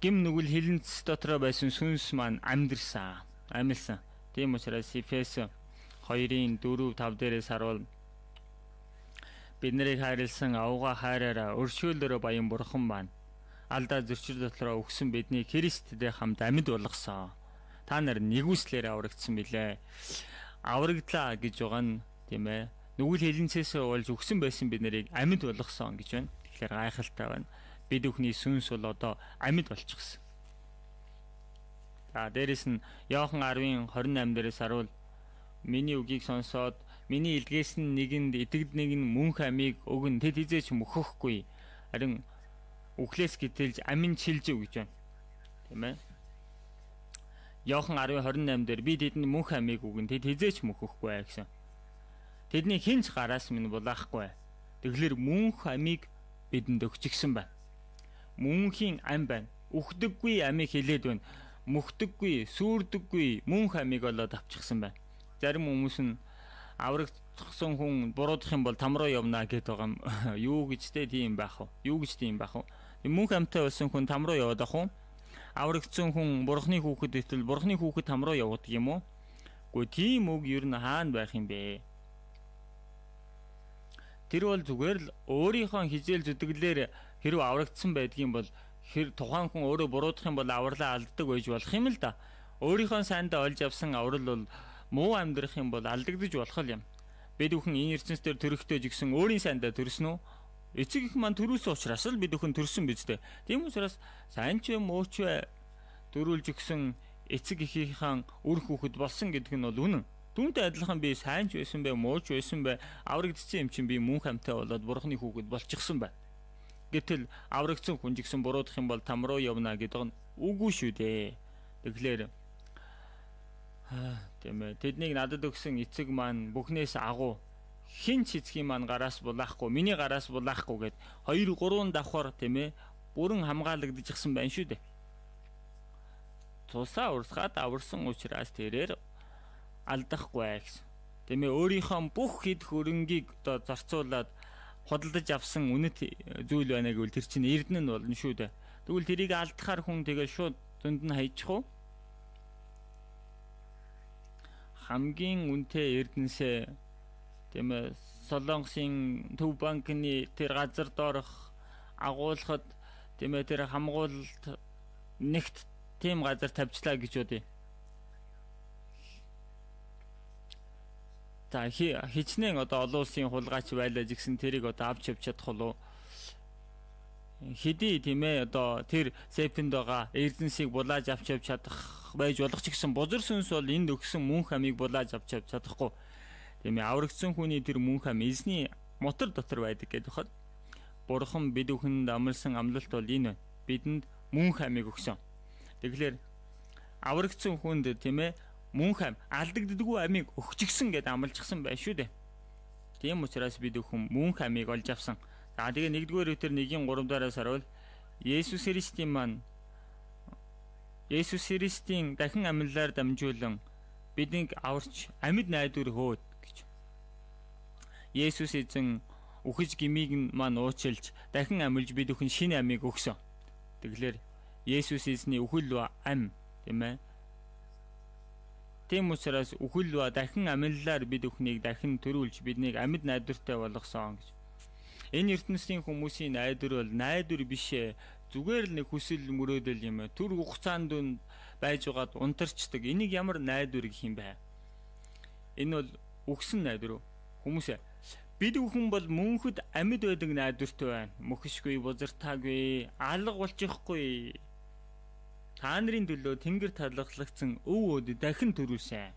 Speaker 1: гим нүгэл хилэнц дотроо байсан сүнс маань амьдэрсэн, амьлсан. Тийм учраас Эфес two-ын four five дээрээс харуул бид нарыг хайрлсан авга хайраараа өршөөлөөрөө баян бурхан маань алдаа зөрчил дотроо өгсөн биднийг Христтэй хамт амьд болгосон. Та нар нэгүслээр аврагдсан билээ. Аврагдлаа гэж байгаа нь тийм ээ. Нүгэл хилэнцээсээ болж өгсөн байсан бид нарыг амьд болгосон гэж байна. Тэгэхээр гайхалтай байна. Бид бүхний сүнс бол одоо амьд болчихсон. За дээрэс нь Иохан ten twenty-eight дээрээс харуул миний үгийг сонсоод миний илгээс нь нэгэнд итгэдэг нь мөнх амийг өгөн тэд хизээч мөхөхгүй. Харин үхлээс гítэлж амин чилжив гэж байна. Тийм ээ. Иохан ten twenty-eight дээр би тэдэнд мөнх амийг өгөн тэд хизээч мөхөхгүй гэсэн. Тэдний хинч гараас минь булаахгүй. Тэгэхээр мөнх амийг бидэнд өгчихсэн байна. Мөнхийн ам байна. Үхдэггүй амийг хилээд байна. Мөхдөггүй, сүрдэггүй мөнх амийг олоод авчихсан байна. Зарим хүмүүс нь аврагдсан хүн буруудах юм бол там руу явна гэдэг байгаа юм. Юу гэж те тийм байх вэ? Юу гэж тийм байх вэ? Мөнх амтай болсон хүн там руу яваад ах уу? Аврагдсан хүн бурхны хүүхэд итэл бурхны хүүхэд там руу явдаг юм уу? Гэхдээ тийм үг ер нь хаана байх юм бэ? Тэр бол зүгээр л өөрийнхөө хижээл зүтгэлээр хэрв аврагдсан байдгийн бол хэр тухайн хүн өөрөө буруудах юм бол авралаа алддаг байж болох юм л да. Өөрийнхөө сайндаа олж авсан аврал бол муу амьдрах юм бол алдагдаж болох юм. Бид бүхэн энэ ертөнцийн төрөхтэй ч гэсэн өөрийн сайндаа төрсөн үү? Эцэг их маань төрүүлсэн учраас л бид бүхэн төрсөн биз дээ. Тийм учраас сайн ч муу ч төрүүлж өгсөн эцэг эхийнхээ үр хүүхэд болсон гэдэг нь бол үнэн. Түүнтэй адилхан би сайн ч байсан бай, муу ч байсан бай, аврагдсан юм чинь би мөн хамтай болоод бурхны хүүхэд болчихсон байна. Гэтэл аврагдсан хүн ч гэсэн буруудах юм бол там руу явна гэдэг нь үгүй шүү дээ. Тэгэхээр тийм ээ, тэднийг надад өгсөн эцэг маань бүхнээс агуу хин ч эцгийн маань гараас булаахгүй, миний гараас булаахгүй гэд хоёр гурван давхар тийм ээ бүрэн хамгаалагдчихсан байна шүү дээ. Тусаа урсгаад аварсан учраас тэрээр алдахгүй гэсэн. Тийм ээ, өөрийнхөө бүх хэд хөрөнгийг одоо зарцуулаад худалдаж авсан үнэт зүйл байна гэвэл тэр чинь эрдэнэ нь болно шүү дээ. Тэгвэл тэрийг алдахаар хүн тэгээ шууд зөнд нь хайчих уу? Хамгийн үнэтэй эрдэнэсээ тийм ээ Солонгосын төв банкны тэр газар доорх агуулгад тийм ээ тэр хамгуулалт нэгт тийм газар тавьчлаа гэж бодъё. За хичнээн одоо олон улсын хулгайч байлаа гэсэн тэрийг одоо авч явж чадах болов. Хэдий тийм ээ одоо тэр сепэнд байгаа эрдэнсийг булааж авч явж чадах байж болох ч гэсэн бузар сүнс бол энд өгсөн мөнх амийг булааж авч явж чадахгүй. Тийм ээ, аврагдсан хүний тэр мөнх ам эзний мотор дотор байдаг гэдэг хад. Бурхан бид бүхэнд амласан амлалт бол энэ байна. Бидэнд мөнх амийг өгсөн. Тэгэхээр аврагдсан хүнд тийм ээ мөнх ам алдагддаггүй амийг өгчихсөн гэдээ амлажсан байх шүү дээ. Тийм учраас бид бүхэн мөнх амийг олж авсан. За тэгээ нэгдүгээр үтер нэгin гурав дараас харуул Есүс Христийн маань Есүс Христийн дахин амьлалаар дамжуулан биднийг аварч амьд найдвар хөөд гэж. Есүс эзэн үхэж гмийг маань уучлж дахин амьлж бид бүхэн шинэ амийг өгсөн. Тэгэхээр Есүс эзний үхэл ам тийм ээ. Тийм учраас үхэл ба дахин амьлалаар бид бүхнийг дахин төрүүлж биднийг амьд найдвартай болгосон гэж. Энэ ертөнцийн хүмүүсийн найдвар бол найдвар биш ээ. Зүгээр л нэг хүсэл мөрөөдөл юм ээ. Түр хугацаанд дүн байж байгаад унтарчдаг. Энийг ямар найдвар гэх юм бэ? Энэ бол үгсэн найдвар. Хүмүүсээ бид бүхэн бол мөнхөд амьд байдаг найдвартай байна. Мөхшгүй, бузартаагүй, алга болчихгүй. Та нарын төлөө тэнгэр талхлагцсан өв өд дахин төрүүлсэн.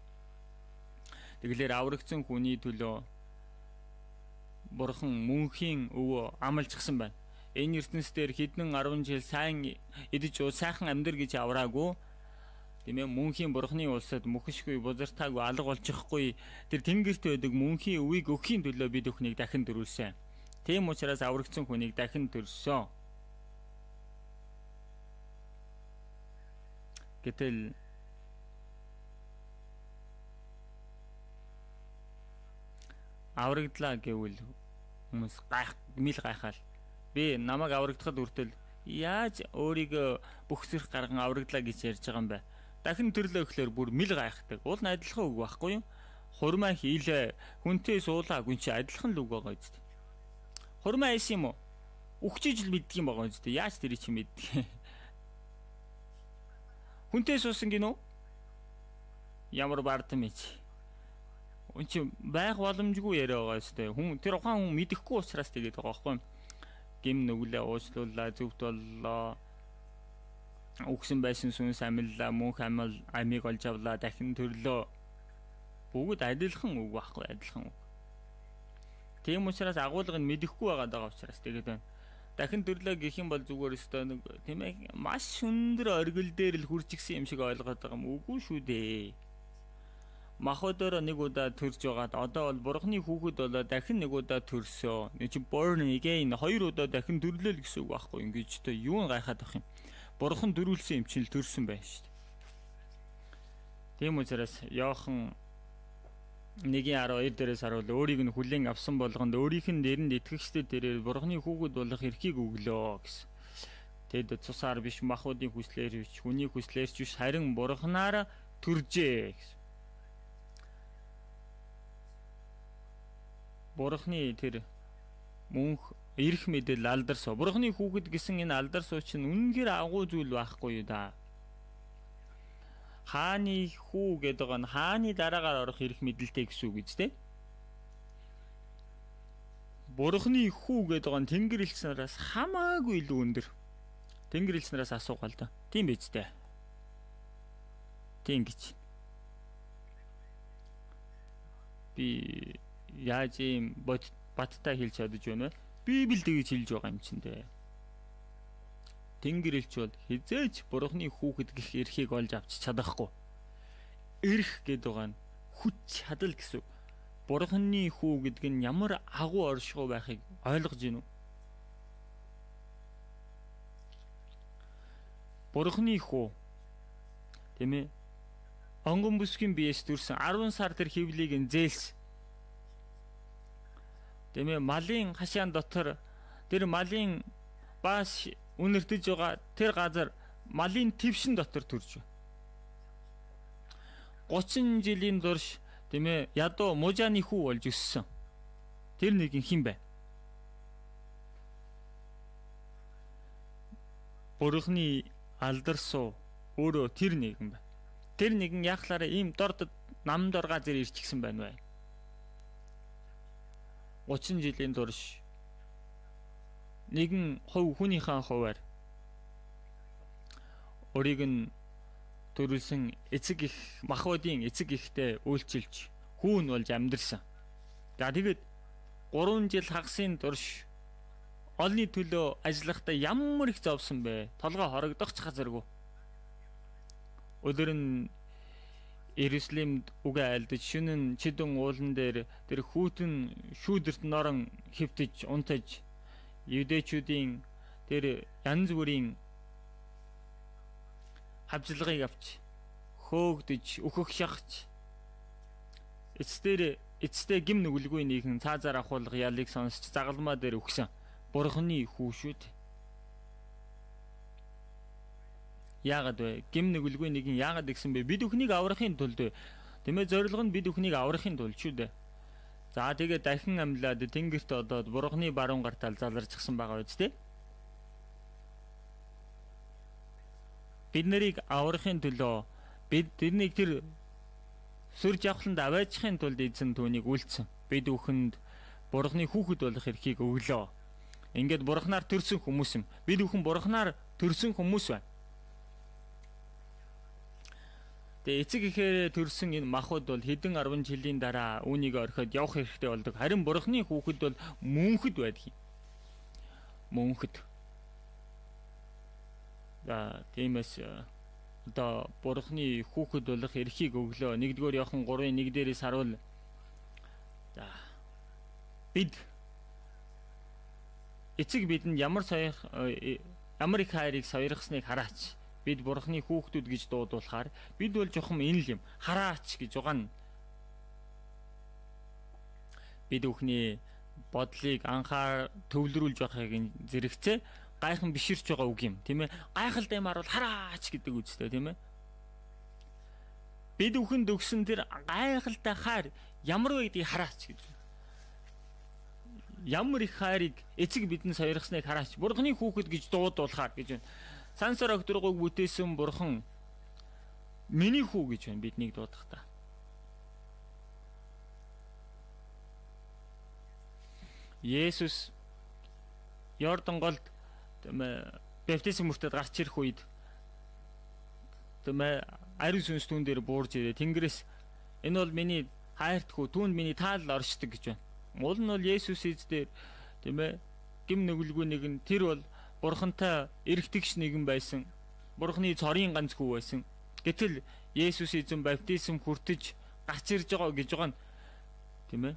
Speaker 1: Тэгэлэр аврагдсан хүний төлөө Бурхан мөнхийн өвөө амлажсан байна. Энэ ертөнцийн хэдэн арван жил сайн идэж уу сайхан амьдр гэж авраагүй. Тийм ээ, мөнхийн Бурханы улсад мөхшгүй, бузартаагүй, алга болчихгүй тэр тэнгэрт байдаг мөнхийн өвийг өгөхийн төлөө бид бүхнийг дахин төрүүлсэн. Тийм учраас аврагдсан хүнийг дахин төрсөн. Гэтэл аврагдлаа гэвэл хүмүүс гайх гмил гайхаал. Би намайг аврагдахад үртэл яаж өөрийгөө бүх зэрэг гарган аврагдлаа гэж ярьж байгаа юм бэ? Дахин төрлөө гэхлээр бүр мил гайхдаг. Уул нь адилхан үг байхгүй юу? Хурмаа хийлээ, хүнтэй суулаа, гүн чи адилхан л үг байгаа үст. Хурмаа хийсэн юм уу? Үхчиж л мэддэг юм байгаа үст. Яаж тэр чи мэддэг? Хүнтэй суусан гинөө? Ямар бардам ич. Үн чи байх боломжгүй яриа байгаа өстэй. Хүн тэр ухаан хүн мэдэхгүй учраас тэгээд байгаа байхгүй. Гим нүглээ уучлууллаа, зөвхт боллоо. Үгсэн байсан сүнс амиллаа, мөнх амил амийг олж авлаа, дахин төрлөө. Бүгд адилхан үг байхгүй, адилхан үг. Тийм учраас агуулга нь мэдэхгүй байгаа учраас тэгээд байна. Дахин төрлөө гэх юм бол зүгээр өстой нэг тийм ээ маш өндөр оргил дээр л хурцгсэн юм шиг ойлгоод байгаа юм. Үгүй шүү дээ. Махбодоор нэг удаа төрж байгаад одоо бол Бурханы хүүхэд болоо дахин нэг удаа төрсөө. Нэг чи born again хоёр удаа дахин төрлөө л гэсэн үг байхгүй. Ингэж тэ юу гайхаад байх юм. Бурхан дөрүүлсэн юм чинь л төрсөн байх шүү дээ. Тийм учраас Иохан нэгin арав хоёр дээрээс харуул өөрийг нь хүлээн авсан болгонд өөрийнх нь нэрэнд итгэгчдэд дээрээ Бурханы хүүхэд болох эрхийг өглөө гэсэн. Тэд цусаар биш махбодын хүслээр биш хүний хүслээр ч биш харин Бурханаар төржээ гэсэн. Бурханы тэр мөнх эрх мэдэл алдар суу. Бурхны хүүхэд гэсэн энэ алдар суу чинь үнэнхээр агуу зүйл байхгүй юу да. Хааны хүү гэдэг нь хааны дараагаар орох эрх мэдэлтэй гэсэн үг үстэй. Бурхны хүү гэдэг нь Тэнгэр элч нараас хамаагүй илүү өндөр. Тэнгэр элч нараас асуугаал да. Тийм биз дээ. Тийм гэж. Би яаж юм баттай хэлж чадаж байна вэ? Библи тэгж хэлж байгаа юм чинь дээ. Тэнгэр элч бол хизээч Бурхны хүүхэд гэх эрхийг олж авч чадахгүй. Эрх гэдэг нь хүч чадал гэсэн. Бурхны хүү гэдэг нь ямар агуу оршихуй байхыг ойлгож гинүү? Бурхны хүү тийм ээ. Онгон бүсгийн биеэс төрсэн арван сар тэр хөвлийг нь зээлс. Тийм ээ, малын хашаан дотор тэр малын бааш үнэртэж байгаа тэр газар малын твшин дотор төрж байна. гучин жилийн турш тийм ээ, ядуу мужааны хүү болж өссөн. Тэр нэг хэн бэ? Бурхны алдар суу өөрөө тэр нэгэн байна. Тэр нэгэн яахлаараа ийм дорд нам дор газар ирчихсэн байна вэ? гучин жилийн турш нэгэн хувь хүнийхээ хуваар өөрийг нь төрүүлсэн эцэг их махбодын эцэг ихтэй үйлчилж хүүн болж амьдэрсэн. За тэгэд гурван жил хагасын турш олны төлөө ажиллахдаа ямар их зовсон бэ? Толгой хорогдох ч газаргүй. Өдөр нь Иерусалимд үгээ айлдаж шөнө нь чидэн уулан дээр тэр хүүтэн шүүдэрт норон хөвтөж унтаж юдэчүүдийн тэр янз бүрийн хавжлагыг авч хөөгдөж өөхөх шахаж эцдэр эцдээ гим нүгэлгүй нэгэн цаазаар ахуулах ялыг сонсч загалмаа дээр өгсөн Бурхны хүү шүү дээ. Яагаад вэ? Гим нүгэлгүй нэгэн яагаад гэсэн бэ? Бид бүхнийг аврахын тулд тийм ээ, зорилго нь бид бүхнийг аврахын тулд шүү дээ. За тэгээ дахин амьлаад тэнгэрт одоод Бурхны баруун гартал заларчихсан байгаа биз дээ. Бид нарыг аврахын төлөө бид тэрнийг тэр сүр жавхланд аваачихын тулд эзэн түүнийг үлдсэн. Бид бүхэнд Бурхны хүүхэд болох эрхийг өглөө. Ингээд Бурхнаар төрсөн хүмүүс юм. Бид бүхэн Бурхнаар төрсөн хүмүүс байна. Тэгээ эцэг ихээр төрсэн энэ махбод бол хэдэн арван жилийн дараа үүнийг орхиод явах хэрэгтэй болдог. Харин Бурхны хүүхэд бол мөнхөд байдаг юм. Мөнхөд. За тиймээс одоо Бурхны хүүхэд болох эрхийг өглөө. нэгдүгээр Иохан гурван нэг дээрээс харуул. За бид эцэг бидэнд ямар сойх ямар их хайрыг сойрхсныг хараач. Бид Бурхны хүүхдүүд гэж дуудуулахаар бид бол жохом энэ л юм. Хараач гэж угаана. Бид бүхний бодлыг анхаар төвлөрүүлж байхыг зэрэгцээ гайхан биширч байгаа үг юм, тийм ээ. Гайхалтай юмар бол хараач гэдэг үгтэй, тийм ээ. Бид бүхэнд өгсөн тэр гайхалтай хайр ямар вэ гэдгийг хараач гэж. Ямар их хайрыг эцэг бидэнд сойрхсныг хараач. Бурхны хүүхэд гэж дуудуулахаар гэж байна. Сансар огторгойг бүтээсэн Бурхан миний хүү гэж байна биднийг дуудахтаа. Есүс Йордан голд баптизм мөртөд гарч ирэх үед тэмээ ариун сүнс түүн дээр буурж ирээ. Тэнгэрээс энэ бол миний хайрт хүү, түүнд миний таал оршдог гэж байна. Мул нь бол Есүс эзээр тэмээ гим нүгэлгүй нэгэн тэр бол Бурхантай эргэтгч нэгэн байсан. Бурхны цорын ганц хүү байсан. Гэтэл Есүс эзэн баптизм хүртэж гарч ирж байгаа гэж байгаа нь тийм ээ.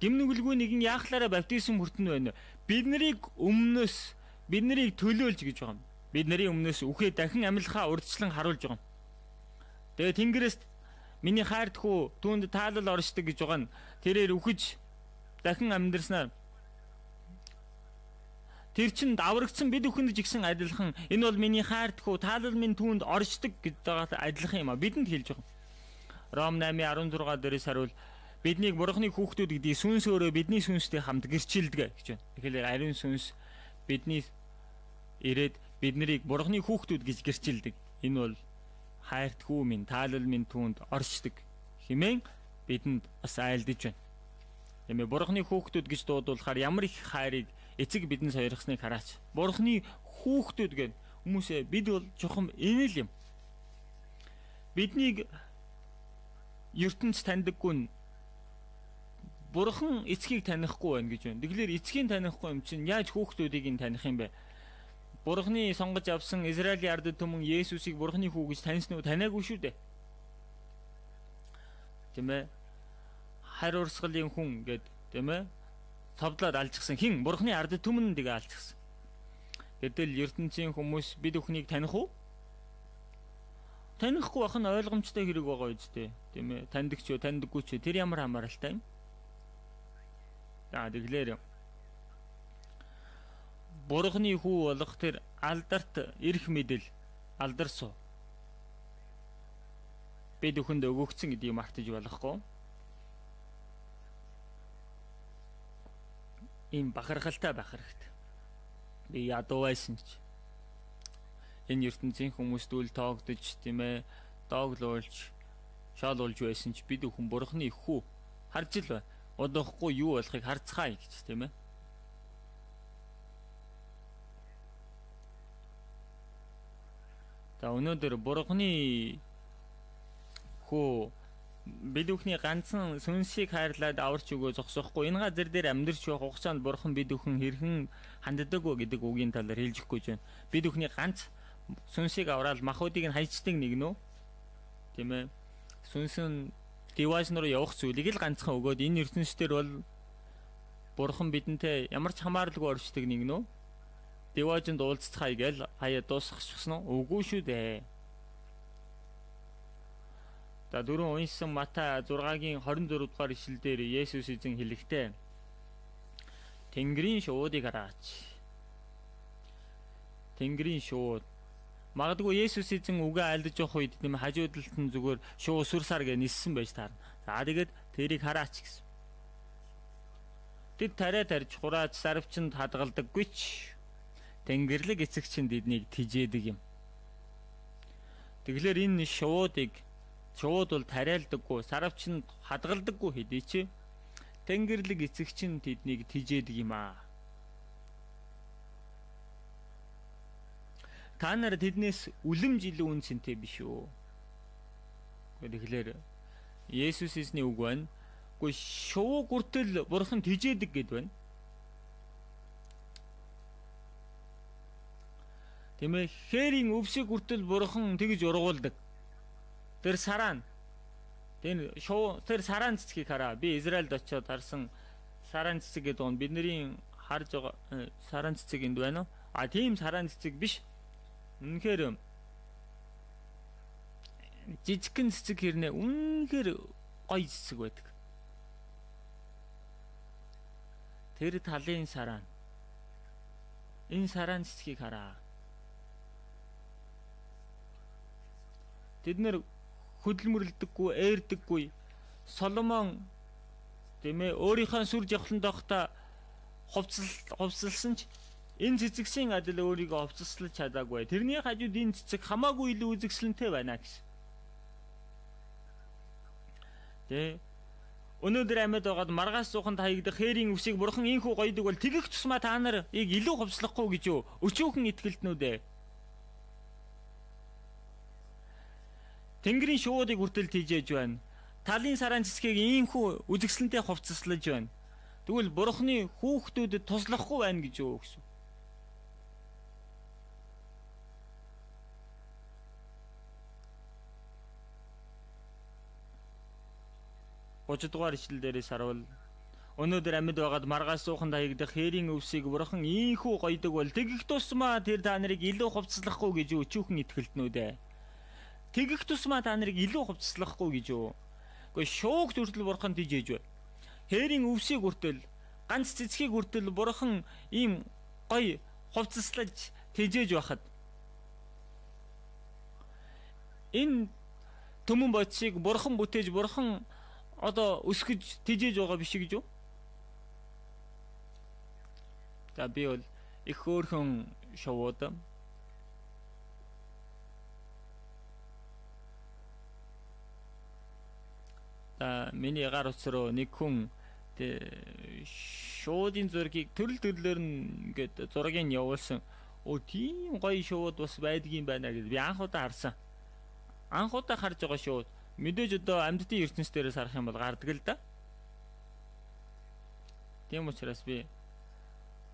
Speaker 1: Гим нүгэлгүй нэгэн яахлаараа баптизм хүртэнэ байна. Бид нарыг өмнөөс бид нарыг төлөөлж гэж байгаа юм. Бид нарын өмнөөс үхээ дахин амьлахаа урдчлан харуулж байгаа юм. Тэгээ Тэнгэрээс миний хайрт хүү түүнд таалал оршдог гэж байгаа нь тэрээр үхэж дахин амьдрснаар тэр чинь даврагдсан бид бүхэнд ч ихсэн адилхан энэ бол миний хайрт хүү таалал минь түүнд оршдог гэж байгаатай адилхан юм а бидэнд хэлж байгаа. Ром наймын арван зургаа дээрээс харуул Биднийг Бурхны хүүхдүүд гэдгийг сүнс өөрөө бидний сүнстэй хамт гэрчилдэг гэж байна. Тэгэхээр ариун сүнс бидний ирээд биднийг Бурхны хүүхдүүд гэж гэрчилдэг. Энэ бол хайрт хүү минь, таалал минь түүнд оршдог хэмээн бидэнд бас айлдаж байна. Тиймээ Бурхны хүүхдүүд гэж дуудуулахаар ямар их хайрыг эцэг бидэнд сойрхсныг хараач. Бурхны хүүхдүүд гэх хүмүүсээ бид бол чухам энэ л юм. Биднийг ертөнц таньдаггүй нь Бурхан эцгийг танихгүй байна гэж байна. Тэгэхээр эцгийг танихгүй юм чинь яаж хүүхдүүдийг нь таних юм бэ? Бурханы сонгож авсан Израилийн ард түмэн Есүсийг Бурханы хүү гэж таньсан уу? Таниагүй шүү дээ. Тийм ээ. Харь урсгалын хүн гэд тийм ээ. Цовдлоод алжчихсан хин Бурханы ард түмэн тэгээ алжчихсан. Гэтэл ертөнцийн хүмүүс бид бүхнийг таних уу? Танихгүй байх нь ойлгомжтой хэрэг байгаа үстэй. Тийм ээ. Таньдаг ч юу, таньдаггүй ч тэр ямар хамааралтай юм? За тэгэхээр Бурханы хүү болох тэр алдарт эрх мэдэл алдарсуу бид бүхэнд өгөгдсөн гэдгийг мартаж болохгүй. Ийм бахархалтай байх хэрэгтэй. Би ядуу байсан ч энэ ертөнцийн хүмүүст үл тоогдож тийм ээ дооглуулж шаалуулж байсан ч бид бүхэн Бурханы хүү харж л байна. Одоохгүй юу болохыг харцгаая гэж тийм ээ. За өнөөдөр Бурханы хүү бид бүхний ганцхан сүнсийг хайрлаад аварч өгөө зогсохгүй энэ газар дээр амьдарч байх хугацаанд Бурхан бид бүхэн хэрхэн ханддаг вэ гэдэг үгийн талаар хэлж өгөх гэж байна. Бид бүхний ганц сүнсийг аваад махуудыг нь хайчдаг нэг нөө тийм ээ. Сүнс нь дивайс руу явах зүйлийг л ганцхан өгөөд энэ ертөнцийн бол Бурхан бидэнтэй ямар ч хамааралгүй оршдог нэг нөө дивайзанд уулзцгаая гээл хаяа дуусчихсан уу? Үгүй шүү дээ. За дөрөв уншсан Матай зургагийн хорин дөрөв дугаар ишлэл дээр Есүс эзэн хэлэхдээ Тэнгэрийн шуудыг хараач. Тэнгэрийн шууд. Магадгүй Есүс эзэн үгээ айлдаж явах үед тийм хажуудалд нь зүгээр шуу сүрсаар гэ ниссэн байж таарна. За тэгээд тэрийг хараач гэсэн. Тэд тариа тарж хураач сарвчанд хадгалдаггүй ч Тэнгэрлэг эцэг чинь тэднийг тижээдэг юм. Тэгэхээр энэ шуудыг шууд бол тариалдаггүй, сарвчанд хадгалдаггүй хэдий чи Тэнгэрлэг эцэг чинь тэднийг тижээдэг юм аа. Та нар тэднээс үлэмж илүү үнцэнтэй биш үү? Тэгэхээр Есүс эзний үг байна. Гэхдээ шуу гүртэл Бурхан тижээдэг гэд байна. Тэмээ хээрийн өвсийг гүртэл Бурхан тэгж ургуулдаг. Тэр сараа тэр шуу тэр сараа цэцгийг хараа. Би Израильд очиод харсан сараа цэцэг гэдэг нь бидний харж байгаа сараа цэцэг энд байна уу? А тийм сараа цэцэг биш. Үнэхээр жижигхэн цэцэг хэрнээ үнэхээр гоё цэцэг байдаг. Тэр талын сараа. Энэ сараа цэцгийг хараа. Тэд нэр хөдөлмөрлөдөггүй, ээрдэггүй. Соломон тийм ээ өөрийнхөө сүр жавхлан доохта хувцал хувцалсан ч энэ цэцэгсийн адил өөрийгөө хувцаслаж чадаагүй. Тэрний хажууд энэ цэцэг хамаагүй илүү үзэгсэлэнтэй байна гэсэн. Тэ өнөөдөр амьд байгаад маргаас сууханд хаягдах хээрийн өвсийг Бурхан ийхүү гоёдаг бол тэгэх тусмаа та нарыг илүү хувцлахгүй гэж юу? Өчөөхөн итгэлтнүүд ээ. Тэнгэрийн шуудыг хүртэл тижээж байна. Талын сараа цэцгийг ийхүү үзэгсэлэнтэй хувцаслаж байна. Тэгвэл Бурханы хүүхдүүдэд туслахгүй байна гэж юу гэсэн. гурав дугаар ишлэл дээрээс харуул өнөөдөр амьд байгаад маргаас сууханд хаягдах хээрийн өвсийг Бурхан ийхүү гоёдаг бол тэгэх тусмаа тэр та нарыг илүү хувцаслахгүй гэж юу өчүүхэн итгэлтнүүд ээ. Тэгэх тусмаа та нарыг илүү хувцаслахгүй гэж юу. Гэхдээ шуугт хүртэл Бурхан тижээж байна. Хээрийн өвсийг хүртэл ганц цэцгийг хүртэл Бурхан ийм гоё хувцаслаж тижээж байхад энэ төмөн бодисыг Бурхан бүтээж Бурхан одоо өсгөж тэжээж байгаа биш гэж юу? За би бол их хөөрхөн шувууд та миний гар утас руу нэг хүн шуудын зургийг төрөл төрлөөр нь ингээд зургийг явуулсан. Оо тийм гоё шууд бас байдгийн байна гэж би анх удаа харсан. Анх удаа харж байгаа шууд мэдээж одоо амьдтын ертөнц дээрээс харах юм бол гардаг л да. Тийм учраас би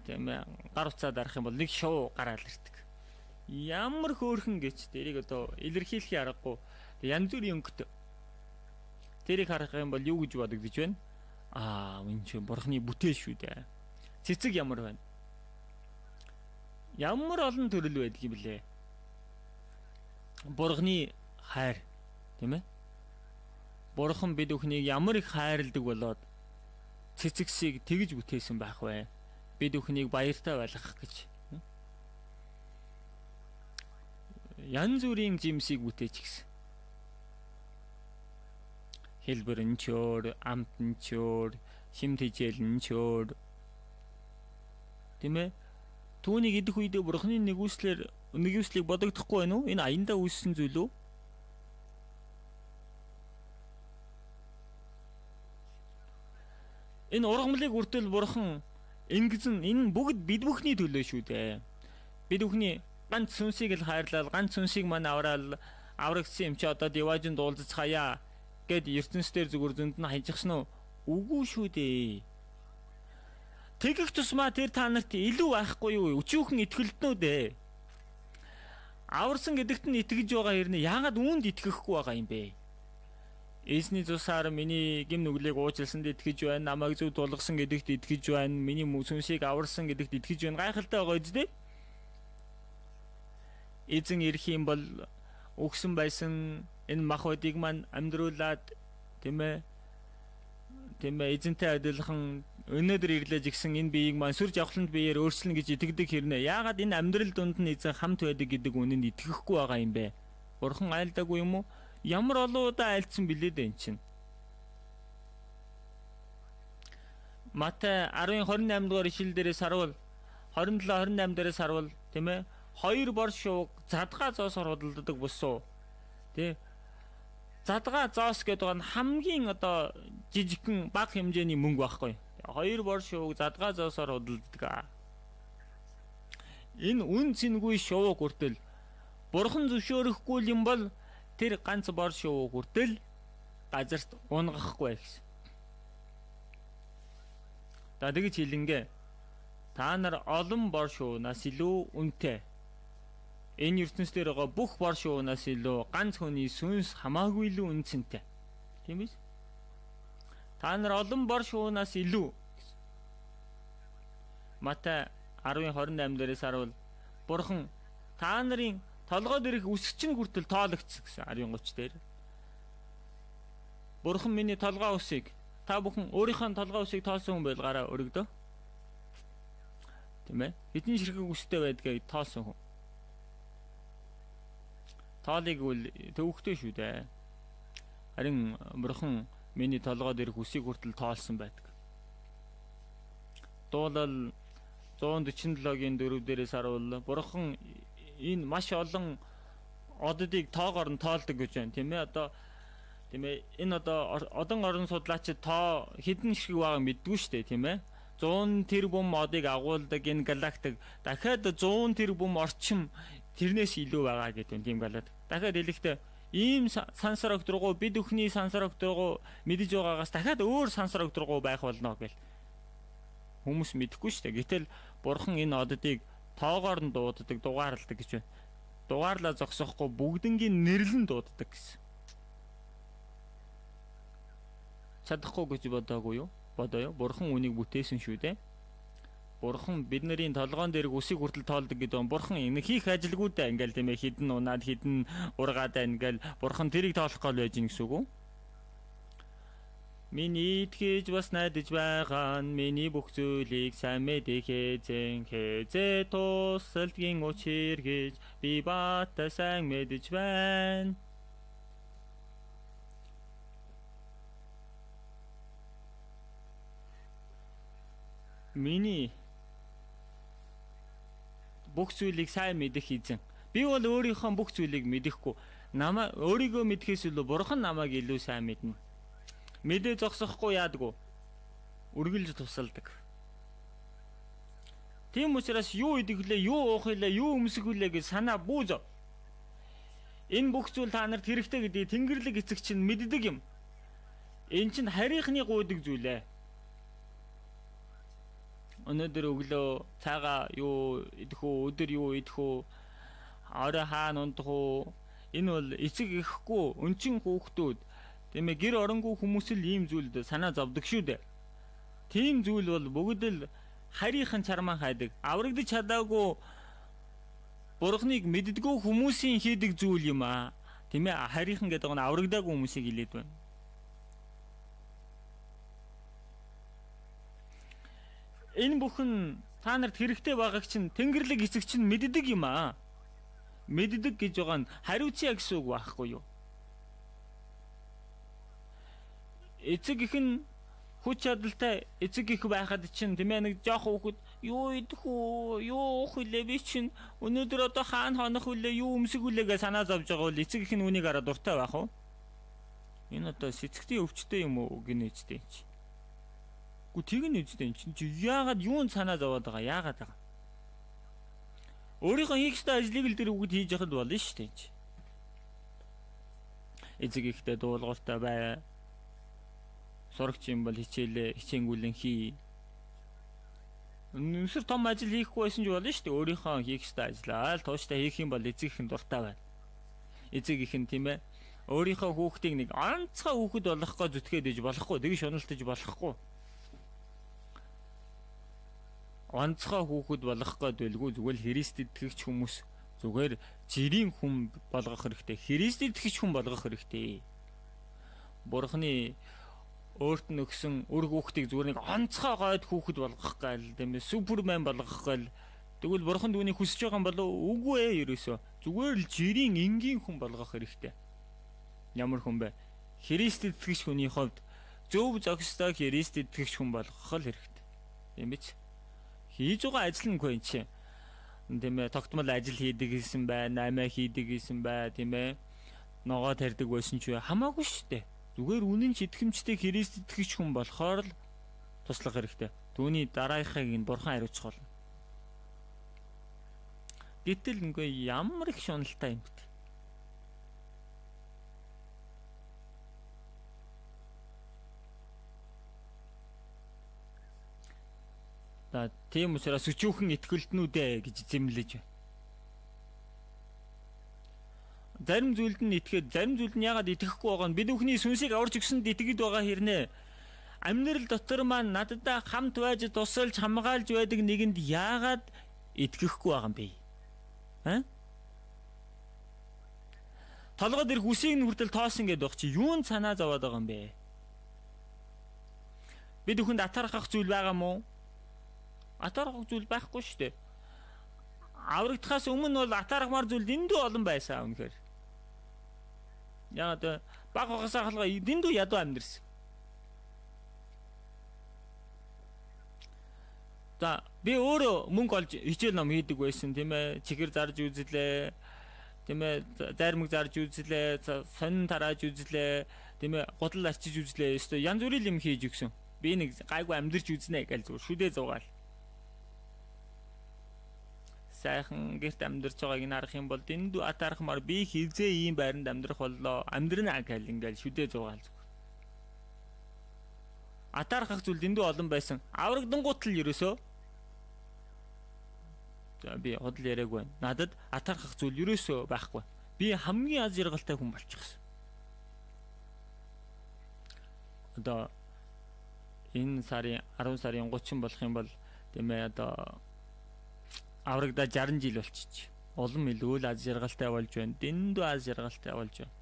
Speaker 1: тийм гар утсаа дарах юм бол нэг шуу гараал ирдэг. Ямар хөөрхөн гэж тэрийг одоо илэрхийлэх аргагүй. Янз бүрийн өнгөт тэрийг харах юм бол юу гэж бодогдож байна? Аа, энэ ч бурхны бүтээл шүү дээ. Цэцэг ямар байна? Ямар олон төрөл байдаг юм блэ? Бурхны хайр, тийм ээ? Бурхан бид бүхнийг ямар их хайрладаг болоод цэцэгсийг тэгж бүтээсэн байх вэ? Бид бүхнийг баяртай байлгах гэж. Янз бүрийн жимсийг бүтээч гисэн. Хэлбэр нь чөөр, амт нь чөөр, шим тэжээл нь чөөр. Тийм ээ? Түүнийг идэх үедээ бурхны нэгүслэр нэгүслийг бодогдохгүй байна уу? Энэ аяндаа үүссэн зүйл үү? Энэ ургамлыг үртэл бурхан ингэсэн энэ бүгд бид бүхний төлөө шүү дээ. Бид бүхний ганц сүнсийг л хайрлал, ганц сүнсийг мань авраал, аврагдсан юм чи одоо диважинд уулзцгаая гэд ертөнцийн зүгээр зөнд нь хажихсан уу? Үгүй шүү дээ. Тэгэх тусмаа тэр та нарт илүү байхгүй юу? Өчүүхэн итгэлтнүүд ээ. Аварсан гэдэгт нь итгэж байгаа хэрнээ яагаад үүнд итгэхгүй байгаа юм бэ? Эзний цусаар миний гим нүглийг уучлсанд итгэж байна, намайг зөв тулгасан гэдэгт итгэж байна, миний сүнсийг аварсан гэдэгт итгэж байна. Гайхалтай байгаа үстэй. Эзэн ирэх юм бол өгсөн байсан энэ махбодыг маань амьдруулад тийм ээ тийм ээ эзэнтэй адилхан өнөөдөр ирлэж гисэн энэ биеийг маань сүр жавхланд биеэр өөрчлөн гэж итгэдэг хэрнээ яагаад энэ амьдрал дунд нь эзэн хамт байдаг гэдэг үнэнд итгэхгүй байгаа юм бэ? Бурхан айлдаагүй юм уу? Ямар олон удаа айлдсан билээ дээ эн чинь. Матай ten twenty-eight дугаар ишлэл дээрээс харуул twenty-seven twenty-eight дээрээс харуул тийм ээ хоёр бор шууг задгаа зоосоор худалддаг бусуу тий задгаа зоос гэдэг нь хамгийн одоо жижигхэн бага хэмжээний мөнгө байхгүй. Хоёр бор шууг задгаа зоосоор худалддаг. Энэ үн цэнгүй шууг хүртэл бурхан зөвшөөрөхгүй юм бол тэр ганц бор шууг хүртэл газарт унгахгүй гэсэн. За тэгж хэлингээ та нар олон бор шуунаас илүү үнэтэй. Энэ ертөнцийн байгаа бүх бор шуунаас илүү ганц хүний сүнс хамаагүй илүү үнцэнтэй. Тийм биз? Та нар олон бор шуунаас илүү. Матай ten twenty-eight дээрээс харуул бурхан та нарын толгойд ирэх үсгчин хүртэл тоологдсон гэсэн ten thirty дээр. Бурхан миний толгой үсийг та бүхэн өөрийнхөө толгой үсийг тоосон хүн байл гараа өргөдөө. Тийм ээ? Хэдэн ширхэг үстэй байдгийг тоосон хүн. Тоолыг үл төвөгтэй шүү дээ. Харин бурхан миний толгойд ирэх үсийг хүртэл тоолсон байдаг. Дуулал one forty-seven-гийн four дээрээс харуул бурхан энэ маш олон оддыг тоогоор нь тоолдог гэж байна тийм ээ одоо тийм ээ энэ одоо одон орон судлаачид тоо хэдэн ширхэг байгааг мэддгүй шүү дээ тийм ээ one hundred тэрбум одыг агуулдаг энэ галактик дахиад one hundred тэрбум орчим тэрнээс илүү байгаа гэдэг юм тийм галаад дахиад хэлэхдээ ийм сансар огтргоо бид өхний сансар огтргоо мэдэж байгаагаас дахиад өөр сансар огтргоо байх болно гэл хүмүүс мэдэхгүй шүү дээ гэтэл бурхан энэ оддыг тоогоор нь дууддаг дугаарладаг гэж байна. Дугаарлаа зогсохгүй бүгднгийн нэрлэн дууддаг гэсэн. Чадахгүй гэж бодоогүй юу? Бодоё. Бурхан үнийг бүтээсэн шүү дээ. Бурхан бидний толгоон дээр үсийг хүртэл тоолдог гэдэг нь бурхан энэ хийх ажилгүй даа ингээл тийм ээ хідэн унаад хідэн ургаадаа ингээл бурхан тэрийг тоолох гол байж гин гэсэн үг үү? Миний итгэж бас найдаж байгаа нь миний бүх зүйлийг сайн мэдэх эзэн хэзээ тусалдгийн учир гэж би бата сайн мэдэж байна. миний бүх зүйлийг сайн мэдэх эзэн. Би бол өөрийнхөө бүх зүйлийг мэдэхгүй. Намаа өөрийгөө мэдхээс илүү Бурхан намайг илүү сайн мэднэ. Мэдээ зогсохгүй яадгүй. Үргэлж тусалдаг. Тийм учраас юу идэглээ, юу уух илээ, юу өмсөх үлээ гэж санаа бүүз. Энэ бүх зүйл та нарт хэрэгтэй гэдгийг Тэнгэрлэг эцэг чинь мэддэг юм. Энэ чинь харийнхны гуйдаг зүйл ээ. Өнөөдөр өглөө цаага юу идэх үү, өдөр юу идэх үү, орой хаана ундах уу? Энэ бол эцэг ихгүй, өнчин хүүхдүүд, тийм ээ, гэр оронгүй хүмүүс л ийм зүйлд санаа зовдөг шүү дээ. Тийм зүйл бол бүгд л харийнхан чармаа хайдаг. Аврагдаж чадаагүй Бурхныг мэддэггүй хүмүүсийн хийдэг зүйл юм аа. Тийм ээ, харийнхан гэдэг нь аврагдаагүй хүмүүсийг хэлээд байна. Энэ бүхэн та нарт хэрэгтэй байгааг чинь Тэнгэрлэг эцэг чинь мэддэг юм аа. Мэддэг гэж байгаа нь хариуцъя гэсэн үг байхгүй юу? Эцэг их нь хүч чадалтай эцэг их байхад чинь тийм ээ, нэг жоох хүүхэд юу идэх үү, юу уух вэ, би чинь өнөөдөр одоо хаана хонох вэ, юу өмсөх вэ гэж санаа зовж байгаа бол эцэг их нь үнийг хараад дуртай байх уу? Энэ одоо сэцгтийн өвчтэй юм уу гинэ үстэй чи. Гү тэг нь үстэй чи яагаад юунд санаа зовоод байгаа, яагаад байгаа? Өөрийнхөө хийх ёстой ажлыг л тэр үгд хийж яхад болно шүү дээ чи. Эцэг ихтэй дуулууртай бай. Сурагч юм бол хичээлээ хичээнгүүлэн хий. Нүсэр том ажил хийхгүй байсан ч болно шүү дээ. Өөрийнхөө хийх ёстой ажлаа л тууштай хийх юм бол эцэг их нь дуртай байна. Эцэг их нь тийм ээ, өөрийнхөө хүүхдийг нэг онцгой хүүхэд болгохгоо зүтгээд иж болохгүй, тэгж шуналтаж болохгүй. Онцгой хүүхэд болгох гээд байлгүй, зүгээр л Христэд итгэгч хүмүүс, зүгээр жирийн хүн болгох хэрэгтэй. Христэд итгэгч хүн болгох хэрэгтэй. Бурхны өөрт нь өгсөн үр хүүхдийг зүгээр нэг онцгой гойд хүүхэд болгох гээл, тийм ээ, супермен болгох гээл. Тэгвэл Бурхан түүнийг хүсэж байгаа юм болов уу? Үгүй ээ, ерөөсөө. Зүгээр л жирийн энгийн хүн болгох хэрэгтэй. Ямар хүн бэ? Христэд итгэгч хүний хувьд зөв зохистой Христэд итгэгч хүн болгох л хэрэгтэй. Тийм биз? Хийж байгаа ажил нь үгүй чи. Тийм ээ, тогтмол ажил хийдэг гэсэн байна, амиа хийдэг гэсэн бай, тийм ээ. Ногоо тарьдаг байсан ч хамаагүй шүү дээ. Зүгээр үнэн ч итгэмжтэй Христ итгэгч хүн болохоор л туслах хэрэгтэй. Түүний дараахыг нь Бурхан хариуцах болно. Гэтэл үгүй ямар их шуналтай юм бэ? За тийм учраас өчүүхэн итгэлтнүүдээ гэж зэмлэж байна. Зарим зүйлд нь итгэхэд, зарим зүйлд нь яагаад итгэхгүй байгаа нь бид бүхний сүнсийг аварч өгсөнд итгэж байгаа хэрнээ. Амьдрал дотор маань надтай хамт байж тусалж хамгаалж байдаг нэгэнд яагаад итгэхгүй байгаа юм бэ? Аа? Толгойд ирэх үсийг нь хүртэл тоосон гэдэг баг чи юунд санаа зовоод байгаа юм бэ? Бид бүхэнд атархах зүйл байгаа мó? Атархах зүйл байхгүй шүү дээ. Аврагдахаас өмнө бол атархмаар зүйл дэндүү олон байсан үнэхээр. Яагаад баг хагасаа халгаа дэндүү ядуу амьдэрсэн. За би өөрөө мөнгө олж хичээл ном хийдэг байсан тийм ээ. Чихэр зарж үзлээ. Тийм ээ, зармаг зарж үзлээ, сонин тарааж үзлээ, тийм ээ, гудал арчиж үзлээ. Өстө янз бүрийн юм хийж өгсөн. Би нэг гайгүй амьдэрч үзнэ гэж зүгээр шүдээ зугаал. Сайхан гэрт амьдарч байгааг нь харах юм бол дэндүү атархмаар би хизээ ийм байранд амьдрах боллоо. Амьдрна гэл ингээл шүдээ зугаал зүгээр. Атархах зүйл дэндүү олон байсан. Аврагдангуут л ерөөсөө. За би худал яриаг байна. Надад атархах зүйл ерөөсөө байхгүй. Би хамгийн аз жаргалтай хүн болчихсон. Одоо энэ сарын арван сарын гучин болох юм бол тийм ээ одоо аврагдаа шарсан жил болчих. Улам илүү л аз жаргалтай болж байна. Дэндүү аз жаргалтай болж байна.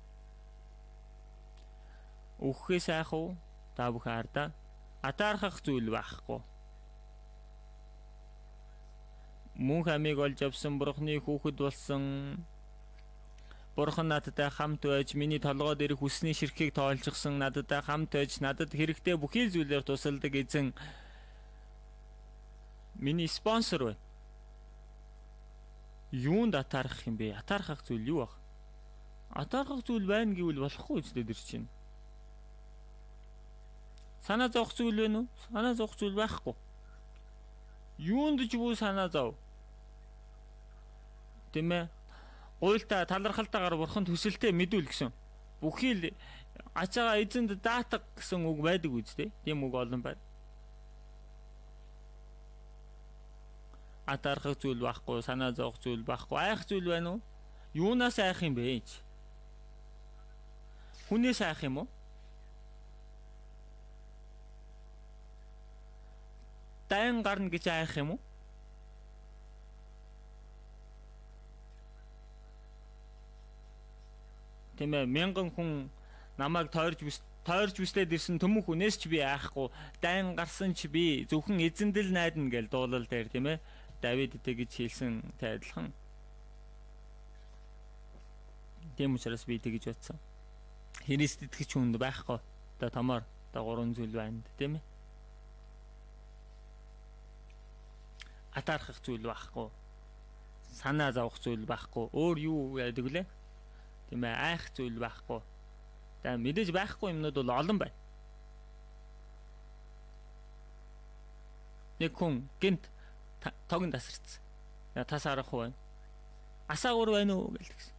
Speaker 1: Үххээ сайх уу? Та бүхэн ардаа атархах зүйл байхгүй. Мөн хамиг олж авсан Бурхны хүүхэд болсон. Бурхан надтай хамт байж миний толгойд ирэх хүсний ширхгийг тоолчихсан, надтай хамт байж надад хэрэгтэй бүхий зүйлээр тусалдаг эзэн. миний спонсор байна. Юунд атаарах юм бэ? Атаархах зүйл юу баг? Атаархах зүйл байна гэвэл болохгүй ч дээр чинь. Санаа зовх зүйл байна уу? Санаа зовх зүйл байхгүй. Юунд ч бүү санаа зов. Тэмээ. Гуйлтаа талархалтайгаар бурханд хүсэлтэд мэдүүл гэсэн. Бүхий л ачаага эзэнд даатах гэсэн үг байдаг үстэй. Тийм үг олон байна. Атаархах зүйл байхгүй, санаа зовх зүйл байхгүй, айх зүйл байна уу? Юунаас айх юм бэ? Хүнээс айх юм уу? Дайн гарна гэж айх юм уу? Тэмээ мянган хүн намайг тойрж бүс тойрж бүслээд ирсэн төмөн хүнээс ч би айхгүй, дайн гарсан ч би зөвхөн эзэндэл найдана гэж дуулал дээр тийм ээ Давид тэгж хэлсэн тайлхан. Тийм учраас би тэгж бодсон. Христ итгэж хүнд байхгүй. Одоо томоор одоо гурван зүйл байна тийм ээ. Атаархах зүйл байхгүй. Санаа зовх зүйл байхгүй. Өөр юу яадаг лээ? Тийм ээ, айх зүйл байхгүй. За мэдээж байхгүй юмнууд бол олон байна. Нэг хүн гинт тогн тасарцсан. Я тас арах байна. Асаагур байна уу гэлсэн.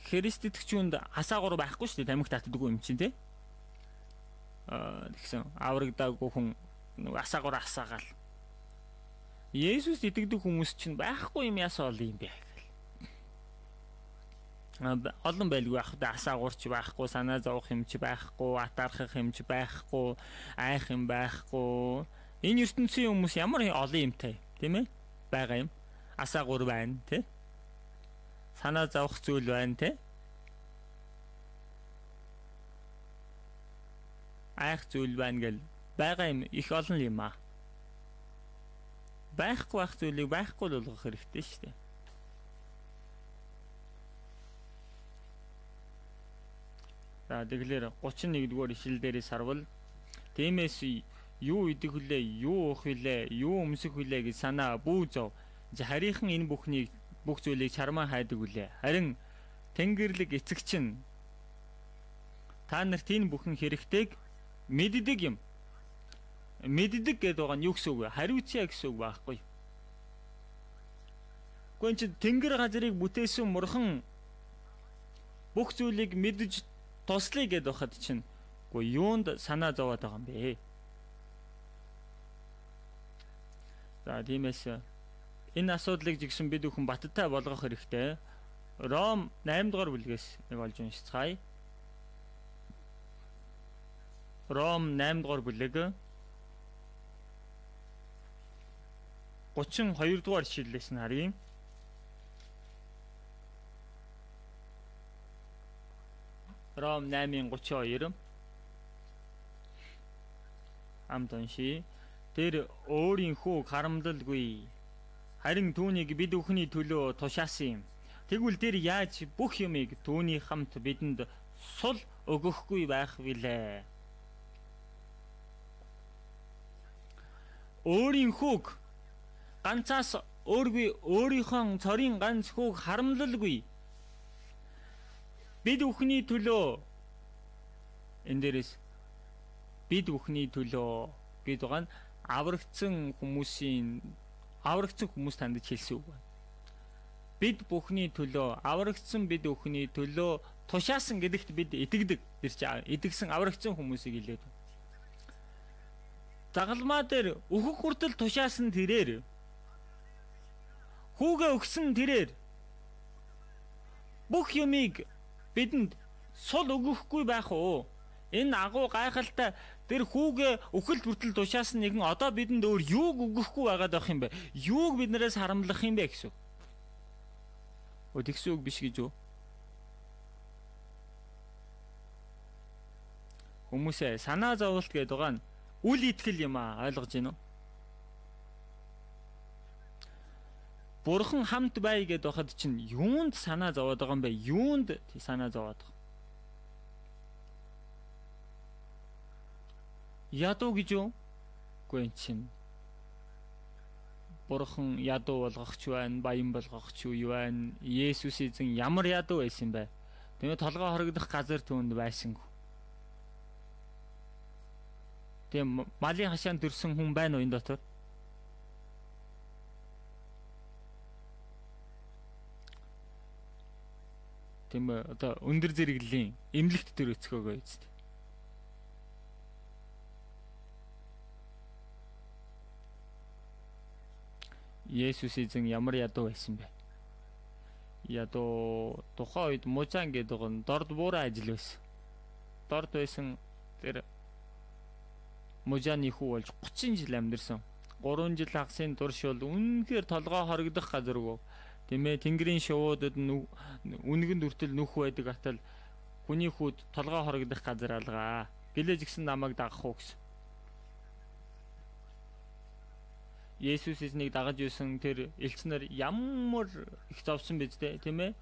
Speaker 1: Христ итгэжүнд асаагур байхгүй шүү дээ. Тамхи татдаггүй юм чинь тий. Аа тэгсэн аврагдаагүй хүн асаагур асаагаал. Есүс итгэдэг хүмүүс чинь байхгүй юм ясаа ол юм бэ гэл. Олон байлгүй байх да асаагуурч байхгүй, санаа зовх юм ч байхгүй, атаархах юм ч байхгүй, айх юм байхгүй. Энэ ертөнцийн хүмүүс ямар олон юмтай тийм ээ байгаа юм. Асаагур байна тий. Санаа зовх зүйл байна тий. Айх зүйл байна гэл байгаа юм их олон юм аа. Байхгүй байх зүйлийг байхгүй л болгох хэрэгтэй шүү дээ. За тэгэлэр гучин нэгдүгээр ишлэл дээрээс харвал тиймээс юу идэх вүлээ, юу уух вүлээ, юу өмсөх вүлээ гэж санаа бүү зов. Харийнхан энэ бүхнийг бүх зүйлийг чармаа хайдаг вүлээ. Харин Тэнгэрлэг эцэг чинь та нарт энэ бүхэн хэрэгтэйг мэддэг юм. Мэддэг гэдэг байгаа нь юу гэсэн үг вэ? Хариуцъя гэсэн үг байхгүй. Гүн чи тэнгэр газрыг бүтээсэн мурхан бүх зүйлийг мэдж туслая гэдээ байхад чинь үгүй юунд санаа зовоод байгаа юм бэ? За тиймээс энэ асуудлыг жигсэн бид бүхэн баттай болгох хэрэгтэй. Ром найман дугаар бүлгээс нэг олж уншицгаая. Ром найман дугаар бүлэг гучин хоёр дугаар ишлэлээс нь харъя. Ром наймын гучин хоёр хамт уншия. Тэр өөрийн хүүг харамлалгүй. Харин түүнийг бид бүхний төлөө тушаасан юм. Тэгвэл тэр яаж бүх юмыг түүний хамт бидэнд сул өгөхгүй байх вүлээ? Өөрийн хүүг ганцаас өөргүй өөрийнхөө цорын ганц хүүг харамлалгүй. Бид бүхний төлөө энэ дээрээс бид бүхний төлөө гэдэг байгаа нь аврагдсан хүмүүсийн аврагдсан хүмүүс танд хэлсэн үг байна. Бид бүхний төлөө аврагдсан бид бүхний төлөө тушаасан гэдэгт бид итгэдэг. Тэр чинь идэгсэн аврагдсан хүмүүсийг хэлээд байна. Загалмаа дээр өөхөх хүртэл тушаасан тэрээр хүүгээ өгсөн тэрээр бүх юмыг бидэнд сул өгөхгүй байх уу? Энэ агуу гайхалтай тэр хүүгээ өхөлт бүртэл тушаасан нэгэн одоо бидэнд өөр юуг өгөхгүй байгаад байх юм бэ? Юуг биднээс харамлах юм бэ гэсэн. Ô тэгсэн үг биш гэж үү? Хүмүүсээ санаа зовлт гэдэг байгаа нь үл итгэл юм аа, ойлгож байна уу? Бурхан хамт бай гэдээ байхад чинь юунд санаа зовоод байгаа юм бэ? Юунд санаа зовоод байгаа? Ядуу гэж юу? Үгүй энэ чинь Бурхан ядуу болгох ч байна, баян болгох ч юу байна. Есүс эзэн ямар ядуу байсан бэ? Тэгээ толгой хорогдох газар түүнд байсангүй. Тэгээ малын хашаанд төрсөн хүн байна уу энэ дотор? Тийм ээ, одоо өндөр зэрэглэлийн эмнэлэгт төр өцгөөгөө эцтэй. Есүс эзэн ямар ядуу байсан бэ? Ядуу тухайн үед мужаан гэдэг нь дорд буурай ажил байсан. Дорд байсан тэр мужааны хүү болж гучин жил амьдэрсэн. гурван жил хагасын турш бол үнэхээр толгой хорогдох газаргүй. Тийм ээ, тэнгэрийн шувуудад үнэгэнд үртэл нүх байдаг атал хүний хүүд толгой хорогдох газар алгаа. Гэлээж гисэн намайг дагах уу гэсэн. Есүс эзнийг дагаж юусан тэр элчнэр ямар их зовсон биз дээ, тийм ээ?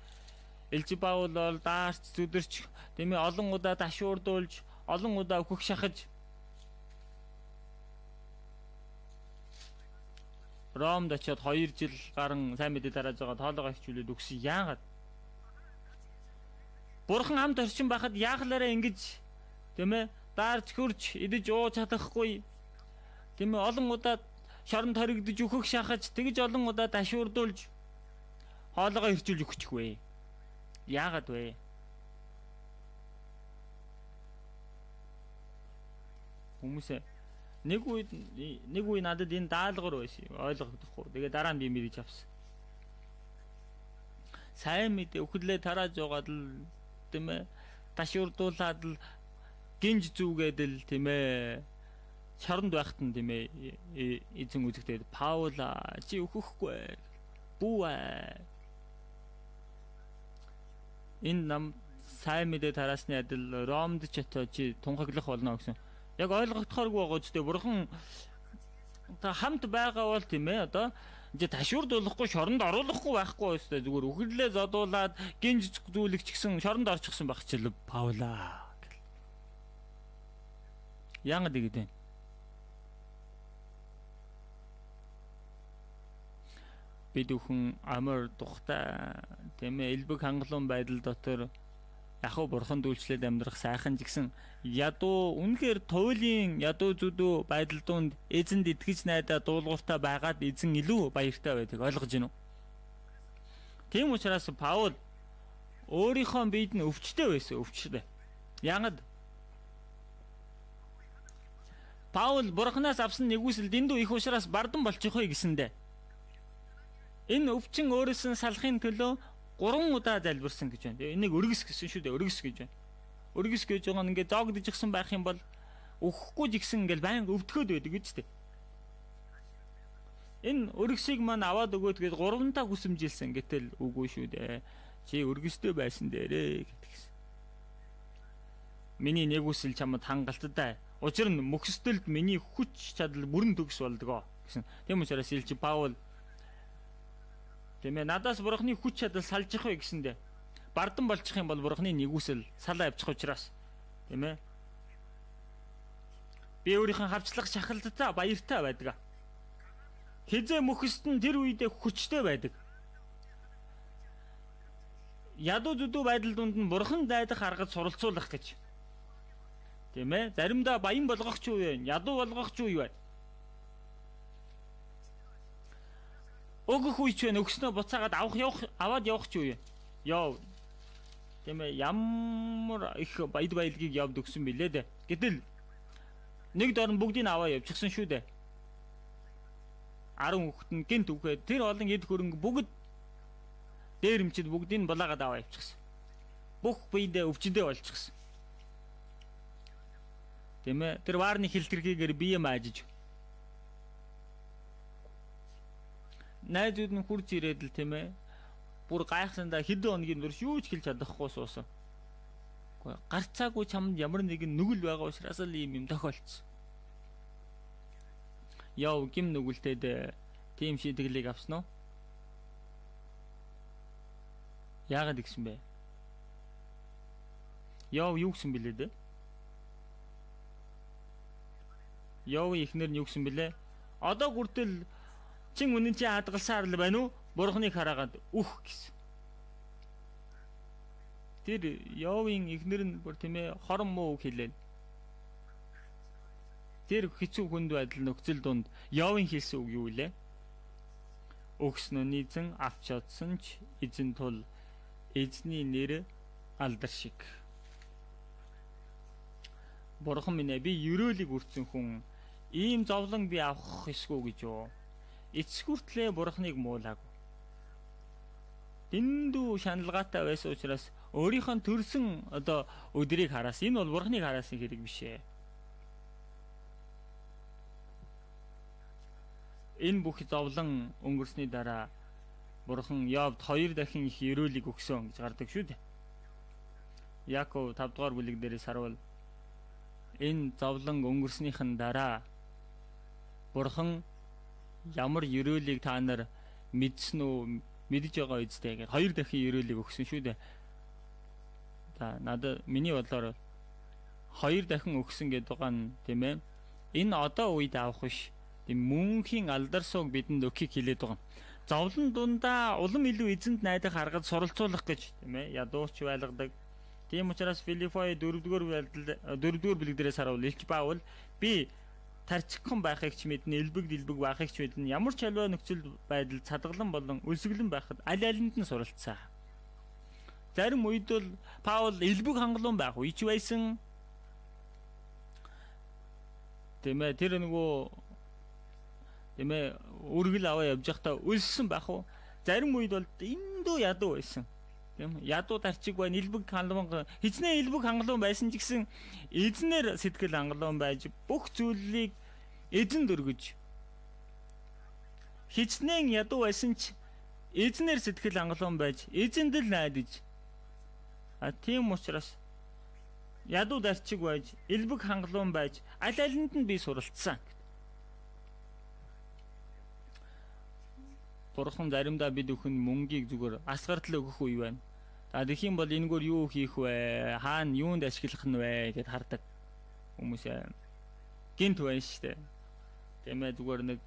Speaker 1: Элч Паул бол даарч зүдэрч, тийм ээ, олон удаа ташуурдуулж, олон удаа өөхөх шахаж Ромд очиод хоёр жил гарan сайн мэдээ тарааж байгаа тоолгоо хичүүлээд өгсөн. Яагаад? Бурхан хамт орчин байхад яахлаараа ингэж, тийм ээ, даарч хөрч, идэж ууж чадахгүй. Тийм ээ, олон удаа шоронд хоригдож өөхөх шахаж, тэгж олон удаа ташуурдуулж хоолойгоо хэрчүүлж өгчихвээ. Яагаад вэ? Хүмүүсээ нэг үед нэг үе надад энэ даалгавар байсан. Ойлгохдохгүй. Тэгээ дараа нь би мэдэж авсан. Сайн мэдээ өхлөө тарааж байгаа л, тийм ээ, ташуурдуулаад л гинж зүгээд л, тийм ээ, шоронд байхад нь, тийм ээ, эзэн үзэгдээд Паула чи өөхөхгүй бүү. Энэ нам сайн мэдээ тараасны адил Ромд ч очоо чи тунхаглах болно гэсэн. Яг ойлгогдохооргүй байгаа ч тийм бурхан та хамт байгаа бол, тийм ээ, одоо чи ташуурдуулахгүй шоронд оруулахгүй байхгүй өстэй зүгээр өхөрлөө зодуулаад гинж зүйлэгч гисэн шоронд орчихсон байх чил Паула гэл. Яагаад ингэдэ? Бид бүхэн амар тухтай, тийм ээ, элбэг хангалуун байдал дотор яхуу бурхан дүүлчлээд амьдрах сайхан жигсэн ядуу үнэхээр туйлын ядуу зүдүү байдал донд эзэнд итгэж найдаа дуулууртай байгаад эзэн илүү баяртай байдаг. Ойлгож байна уу? Тийм учраас Паул өөрийнхөө биед нь өвчтэй байсан, өвчтэй. Яагаад? Паул бурханаас авсан нэгүсэл дэндүү их учраас бардан болчихоё гэсэндэ. Энэ өвчин өөрөөс нь салахын төлөө гурван удаа залбирсан гэж байна. Энийг өргөс гэсэн шүү дээ. Өргөс гэж байна. Өргөс гэж байгаа нь ингээд зоогдчихсан байх юм бол өөхөхгүй жигсэн ингээд байнга өвдөхөд байдаг гэж дээ. Энэ өргөсийг маань аваад өгөөд гээд гуравантаа хүсэмжилсэн гэтэл үгүй шүү дээ. Чи өргөстэй байсан дээрээ гэтгсэн. Миний нэгүсэл чамд хангалттай. Учир нь мөхсдөлд миний хүч чадал бүрэн төгс болдгоо гэсэн. Тийм учраас Илч Паул, тийм ээ, надаас бурхны хүч чадал салжих вэ гэсэндэ бардан болчих юм бол бурхны нэгүсэл салаа явчих учраас, тийм ээ, би өөрийнхөө хавчлах шахалттай баяртай байдаг. Хизээ мөхсд нь тэр үедээ хүчтэй байдаг. Ядуу зүдүү байдал дунд нь бурхан дайдах аргад суралцуулах гэж. Тийм ээ, заримдаа баян болгох ч юу вэ? Ядуу болгох ч юу вэ? Өгөх үеч вэ, өгснөө буцаагаад авах явах аваад явах ч юу вэ? Яв. Тийм ээ, ямар их баяд баялгийг явд өгсөн билээ дээ. Гэтэл нэг дорн бүгдийг аваа явчихсан шүү дээ. арван хүүхэд нь гинт үхээд тэр олон эд хөрөнгө бүгд дээрэмчид бүгдийг нь булаагаад аваа явчихсан. Бүх биедээ өвчдөө болчихсон. Тийм ээ, тэр ваарны хилтэрхийгээр бие маажиж. Найзууд нь хурж ирээд л, тийм ээ, бүр гайхсандаа хэдэн хоногийн дурш юу ч хэлж чадахгүй суусан. Гэхдээ гарцаагүй чамд ямар нэгэн нүгэл байгаа учраас л ийм юм тохиолдсон. Яв гим нүгэлтэд тийм шийдвэрлийг авсан уу? Яагаад гэсэн бэ? Яв юу гэсэн бэлээ дээ? Яв ихнэр нь юу гэсэн бэлээ? Одоо хүртэл Чин үнэн чи хадгалсаар л байна уу? Бурхныг хараагаад үх гэсэн. Тэр Йовын эхнэр нь бүр тийм ээ хорон муу үг хэлээн. Тэр хэцүү хүнд байдал нөхцөл донд Йовын хэлсэн үг юу вэ? Өгснө нийцэн авч чадсан ч эзэн тул эзний нэр алдар шиг. Бурхан минь би ерөөлийг үрцэн хүн ийм зовлон би авах эсгүй гэж юу? Эцс хүртлээ Бурханыг муулаагүй. Дэндүү шаналгаатай байсан учраас өөрийнхөө төрсөн одоо өдрийг хараас энэ бол Бурханыг хараасан хэрэг биш ээ. Энэ бүх зовлон өнгөрсний дараа Бурхан Йовд хоёр дахин их ерөөлийг өгсөн гэж гардаг шүү дээ. Яков тавд дугаар бүлэг дээрээс харуул энэ зовлон өнгөрснийхэн дараа Бурхан ямар ерөөлийг та нар мэдсэн үү, мэдж байгаа үстэй гэж хоёр дахин ерөөлийг өгсөн шүү дээ. За надад миний бодлоор хоёр дахин өгсөн гэдэг байгаа нь тийм ээ. Энэ одоо үед авах биш. Тийм мөнхийн алдар суг бидэнд өгөхийг хэлээд байгаа. Зовлон дундаа улам илүү эзэнд найдах аргад суралцуулах гэж тийм ээ ядууч байлгадаг. Тийм учраас Филиппой дөрөвдүгээр дөрөвдүгээр бүлэг дээрээс харуул Илч Паул би тарчигхан байхыг ч мэднэ, элбэг дэлбэг байхыг ч мэднэ. Ямар ч аливаа нөхцөл байдал цадгалан болон өлсгөлэн байхад аль алинд нь суралцсан. Зарим үед бол Паул элбэг хангалуун байх үеч байсан. Тийм ээ тэр нөгөө тийм ээ үргэл аваа явж байхдаа өлссөн байх уу? Зарим үед бол эндүү ядуу байсан. Тийм ядуу тарчиг байна, элбэг хангалуун хичнээн элбэг хангалуун байсан ч гэсэн эзнэр сэтгэл хангалуун байж бүх зүйлийг эзэнд өргөж хичнээн ядуу байсан ч эзнэр сэтгэл хангалуун байж эзэнд л найдаж а тийм учраас ядуу тарчиг байж элбэг хангалуун байж аль алинд нь би суралцсан. Бурхан заримдаа бид өхөн мөнгийг зүгээр асгартал өгөх үе байна. За тэгэх юм бол энэгээр юу хийх вэ? Хаана юунд ашиглах нь вэ гэд хардаг хүмүүс гинт байна шүү дээ. Тийм ээ зүгээр нэг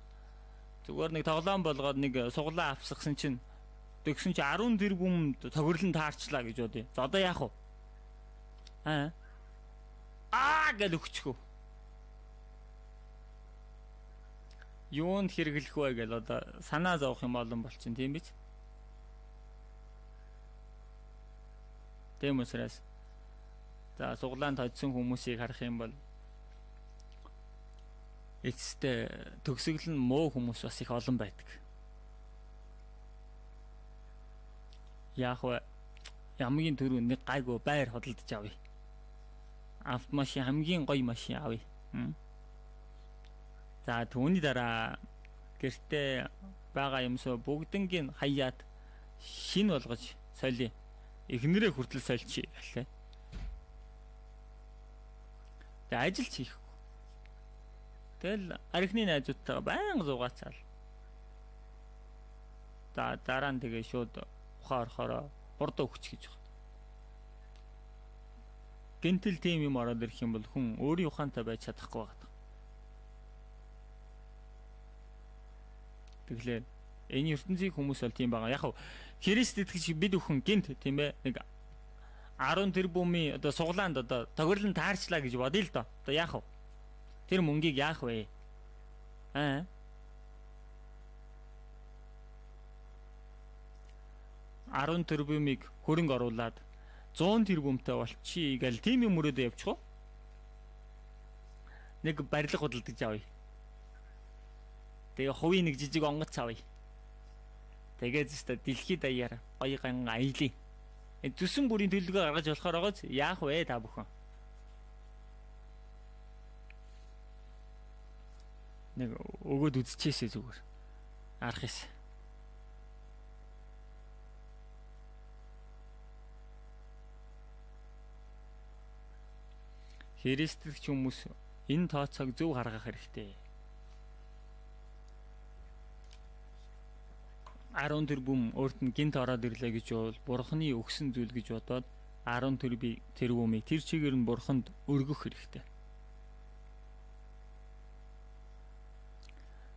Speaker 1: зүгээр нэг тоглоом болгоод нэг суглаа авсгсан чинь тэгсэн чи арван тэрбум тохирлон таарчлаа гэж бодъё. За одоо яах вэ? Аа аа гэж өгчихөө. Юунд хэрэглэх вэ гэж одоо санаа зовох юм олон болчихно тийм биз? Тийм учраас за суглаанд хоцсон хүмүүсийг харах юм бол эцэстээ төгсгөл нь муу хүмүүс бас их олон байдаг. Яах вэ? Ямгийн төрөө нэг гайгүй байр хөдөлж авъя. Автомашин хамгийн гоё машин авъя. За түүний дараа гэртээ байгаа юмсоо бүгднийг хаяад шин болгож солиё. Эхнэрээ хүртэл сольчих гэлээ. Тэгээ ажил хийхгүй. Тэгэл архины найзуудтайгаа байнга зугаацаал. За дараа нь тэгээ шууд ухаа орохороо бурдаа өгч гэж байна. Гэнтэл тийм юм ороод ирэх юм бол хүн өөрийн ухаантай байж чадахгүй байна. Тэгэхээр энэ ертөнцийн хүмүүс бол тийм байгаа. Яг хав Христ итгэж бид бүхэн гинт тийм ээ нэг арван тэрбумын одоо суглаанд одоо тохирлон таарчлаа гэж бодъё л доо. Одоо яах вэ? Тэр мөнгийг яах вэ? Аа. арван тэрбумыг хөрөнгө оруулаад зуун тэрбумтай болчихъя гэл тийм юм өрөөдөө явчих уу? Нэг барилга худалдаж авъя. Тэгээ хувийн нэг жижиг онгоц авъя. Тэгээд зөвхөн дэлхийд даяар гоё ган аялье. Зүсэн бүрийн төлөвлөгөө гаргаж болохоор байгаа ч яах вэ та бүхэн? Нэг өгөөд үзчихээсэй зүгээр. Арах юм. Христч хүмүүс энэ тооцоог зөв харгах хэрэгтэй. арван тэрбум өөрт нь гинт ороод ирлээ гэж бол бурхны өгсөн зүйл гэж бодоод арван тэрбумыг тэр чигээр нь бурханд өргөх хэрэгтэй.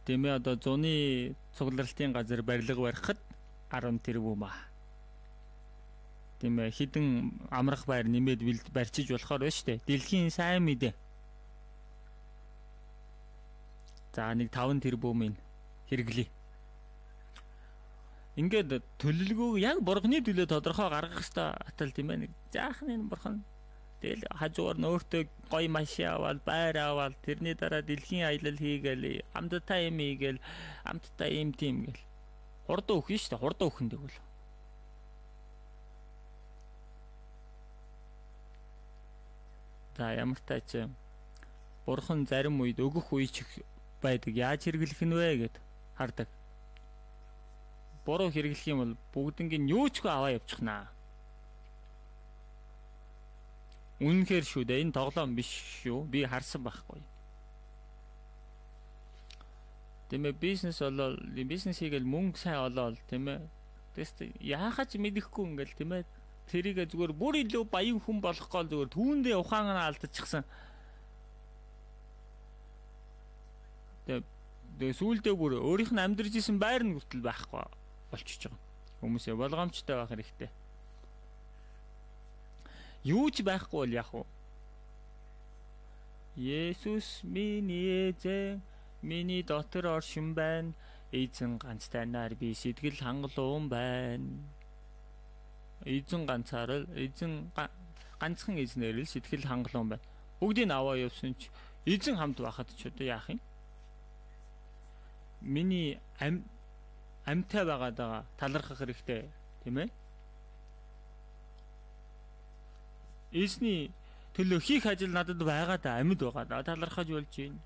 Speaker 1: Тэмээ одоо зуны цугларалтын газар барилга барихад арван тэрбум аа. Тэмээ хідэн амрах байр нэмээд барьчиж болохоор байна шүү дээ. Дэлхийн сайн мэдээ. За нэг таван тэрбумын хэрэглэе. Ингээд төлөлгөөг яг бурганы төлөө тодорхой гаргах хэрэгтэй атал тийм ээ. Нэг жаахан энэ бурхан тэгэл хажуугаар нөөртөө гоё машин аваад байр аваад тэрний дараа дэлхийн аялал хийгээл амттай юм хийгээл амттай юм тийм гэл хурдан өгөх нь шүү дээ. Хурдан өгөх нь тэгвэл за ямар ч тач бурхан зарим үед өгөх үе ч байдаг. Яаж хэрэглэх нь вэ гэд хардаг. Буруу хэрэглэх юм бол бүгднийг юу ч аваа явчихнаа. Үнэнхээр шүү дээ. Энэ тоглоом биш шүү. Би харсан байхгүй. Тэмээ бизнес болол бизнес хийгээл мөнгө сайн олоод тийм ээ. Тэст яахаач мэдэхгүй ингээл тийм ээ. Тэрийг зүгээр бүр илүү баян хүн болох гол зүгээр түүндээ ухаан алдчихсан. Тэгээ сүүлдээ бүр өөрийнх нь амьдарч исэн байр нь хүртэл байхгүй болчихж байгаа. Хүмүүсээ болгоомжтой байх хэрэгтэй. Юу ч байхгүй бол яах вэ? Есүс миний эзэн, миний дотор оршин байна. Эзэн ганцтайнаар би сэтгэл хангалуун байна. Эзэн ганцаар л эзэн ганцхан эзнэр л сэтгэл хангалуун байна. Бүгдийг аваа явсан ч эзэн хамт байхад ч одоо яах юм? Миний ам амтай байгаад байгаа талархах хэрэгтэй тийм ээ. Эзний төлөө хийх ажил надад байгаа да амьд байгаа да талархаж болж байна.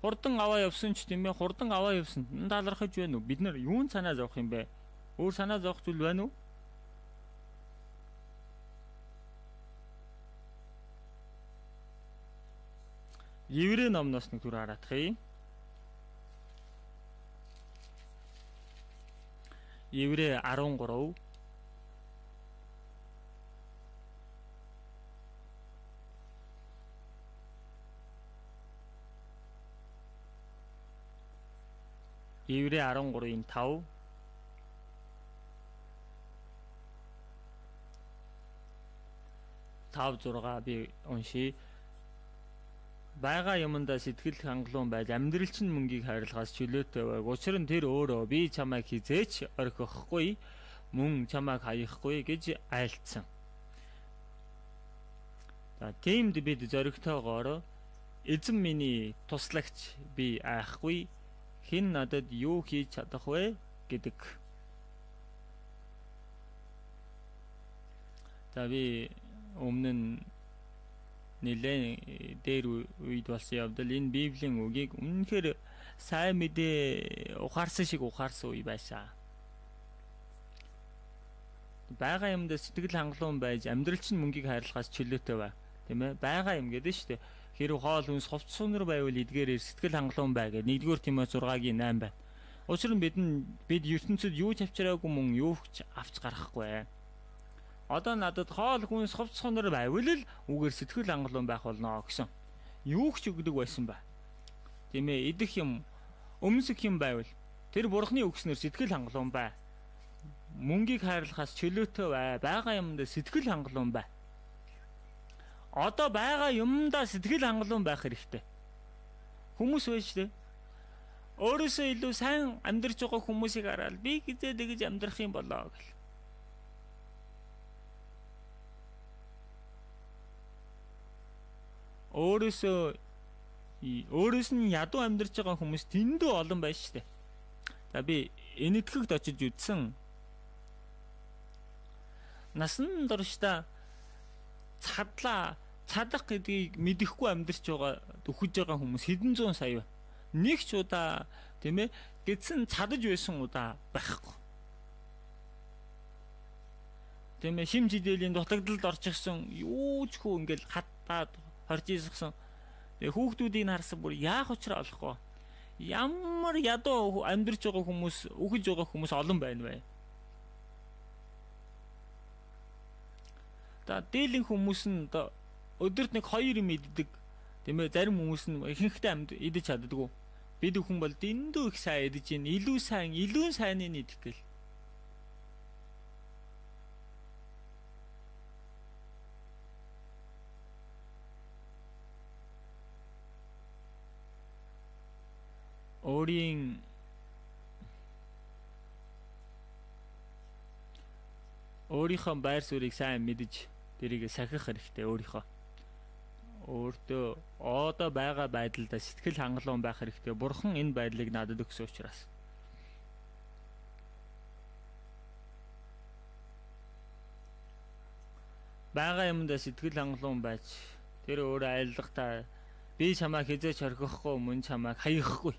Speaker 1: Хурдан аваа явсан ч тийм ээ хурдан аваа явсан талархаж байна уу? Бид нар юун санаа зовох юм бэ? Өөр санаа зовох зүйл байна уу? Еврей номноос нэг түр хараадах юм. Еврей арван гурав Еврей арван гурвын тав тав зурга би уншия. Бага юмдаа сэтгэл хангалуун байж амьдралчин мөнгийг хайрлахаас чөлөөтэй байг. Учир нь тэр өөрөө би чамайг хизээч орхихгүй, мөн чамайг хаяхгүй гэж айлцсан. За тиймд бид зоригтойгоор эзэн миний туслагч би айхгүй, хэн надад юу хийж чадах вэ гэдэг. За би өмнө нь нэлээд дээр үед болсон явдал энэ Библийн үгийг үнэнхээр сайн мэдээ ухаарсан шиг ухаарсан үе байсан. Бага юмд сэтгэл хангалуун байж амьдралчин мөнгийг хайрлахаас чөлөөтэй бай. Тийм ээ? Бага юм гэдэг нь шүү дээ. Хэрв хоол хүнс ховц сунар байвал эдгээрээр сэтгэл хангалуун бай гэдэг нэгдүгээр Тимоте зургагийн найм байна. Учир нь бид бид ертөнцид юу ч авчираагүй мөн юу ч авч гарахгүй. Одоо надад хоол хүнс ховц сунар байвал л үгээр сэтгэл хангалуун байх болно гэсэн. Юу ч өгдөг байсан ба. Тийм ээ? Идэх юм, өмсөх юм байвал тэр бурхны өгснөр сэтгэл хангалуун бай. Мөнгийг хайрлахаас чөлөөтэй бай. Бага юмд сэтгэл хангалуун бай. Одоо бага юмдаа сэтгэл хангалуун байх хэрэгтэй. Хүмүүс байж тээ. Өөрөөсөө илүү сайн амьдарч байгаа хүмүүсийг хараад би хизээ тэгж амьдрах юм болоо гэл. Өөрөөсөө өөрөөс нь ядуу амьдарч байгаа хүмүүс тэндүү олон байна шүү дээ. За би энэтхэгт очиж үзсэн. Насан туршдаа цадлаа цадах гэдгийг мэдэхгүй амьдарч байгаа өгөж байгаа хүмүүс хэдэн зуун сая байна. Нэг ч удаа тийм ээ гэдсэн цадаж байсан удаа байхгүй. Тийм ээ шим жидээлийн дутагдалд орчихсон юу ч хөө ингээл хатаад хорж ийсгсэн. Тэгээ хүүхдүүдийг харсан бүр яах учраа олохгүй. Ямар ядуу амьдарч байгаа хүмүүс өгөж байгаа хүмүүс олон байна вэ? За дээлийн хүмүүс нь өдөрт нэг хоёр юм иддэг. Тийм ээ зарим хүмүүс нь ихэнхдээ амьд идэж чаддаггүй. Бид бүхэн бол дэндүү их сайн идэж ийн, илүү сайн, илүү сайныг идэх гээл. Өөрийн өөрийнхөө байр суурийг сайн мэдж тэрийг сахих хэрэгтэй өөрийнхөө. Өөртөө одоо байгаа байдлаа сэтгэл хангалуун байх хэрэгтэй. Бурхан энэ байдлыг надад өгсөн учраас. Бага юмдаа сэтгэл хангалуун байж тэр өөрөө айлгатаа би чамайг хизээч орхихгүй, мөн чамайг хаяхгүй.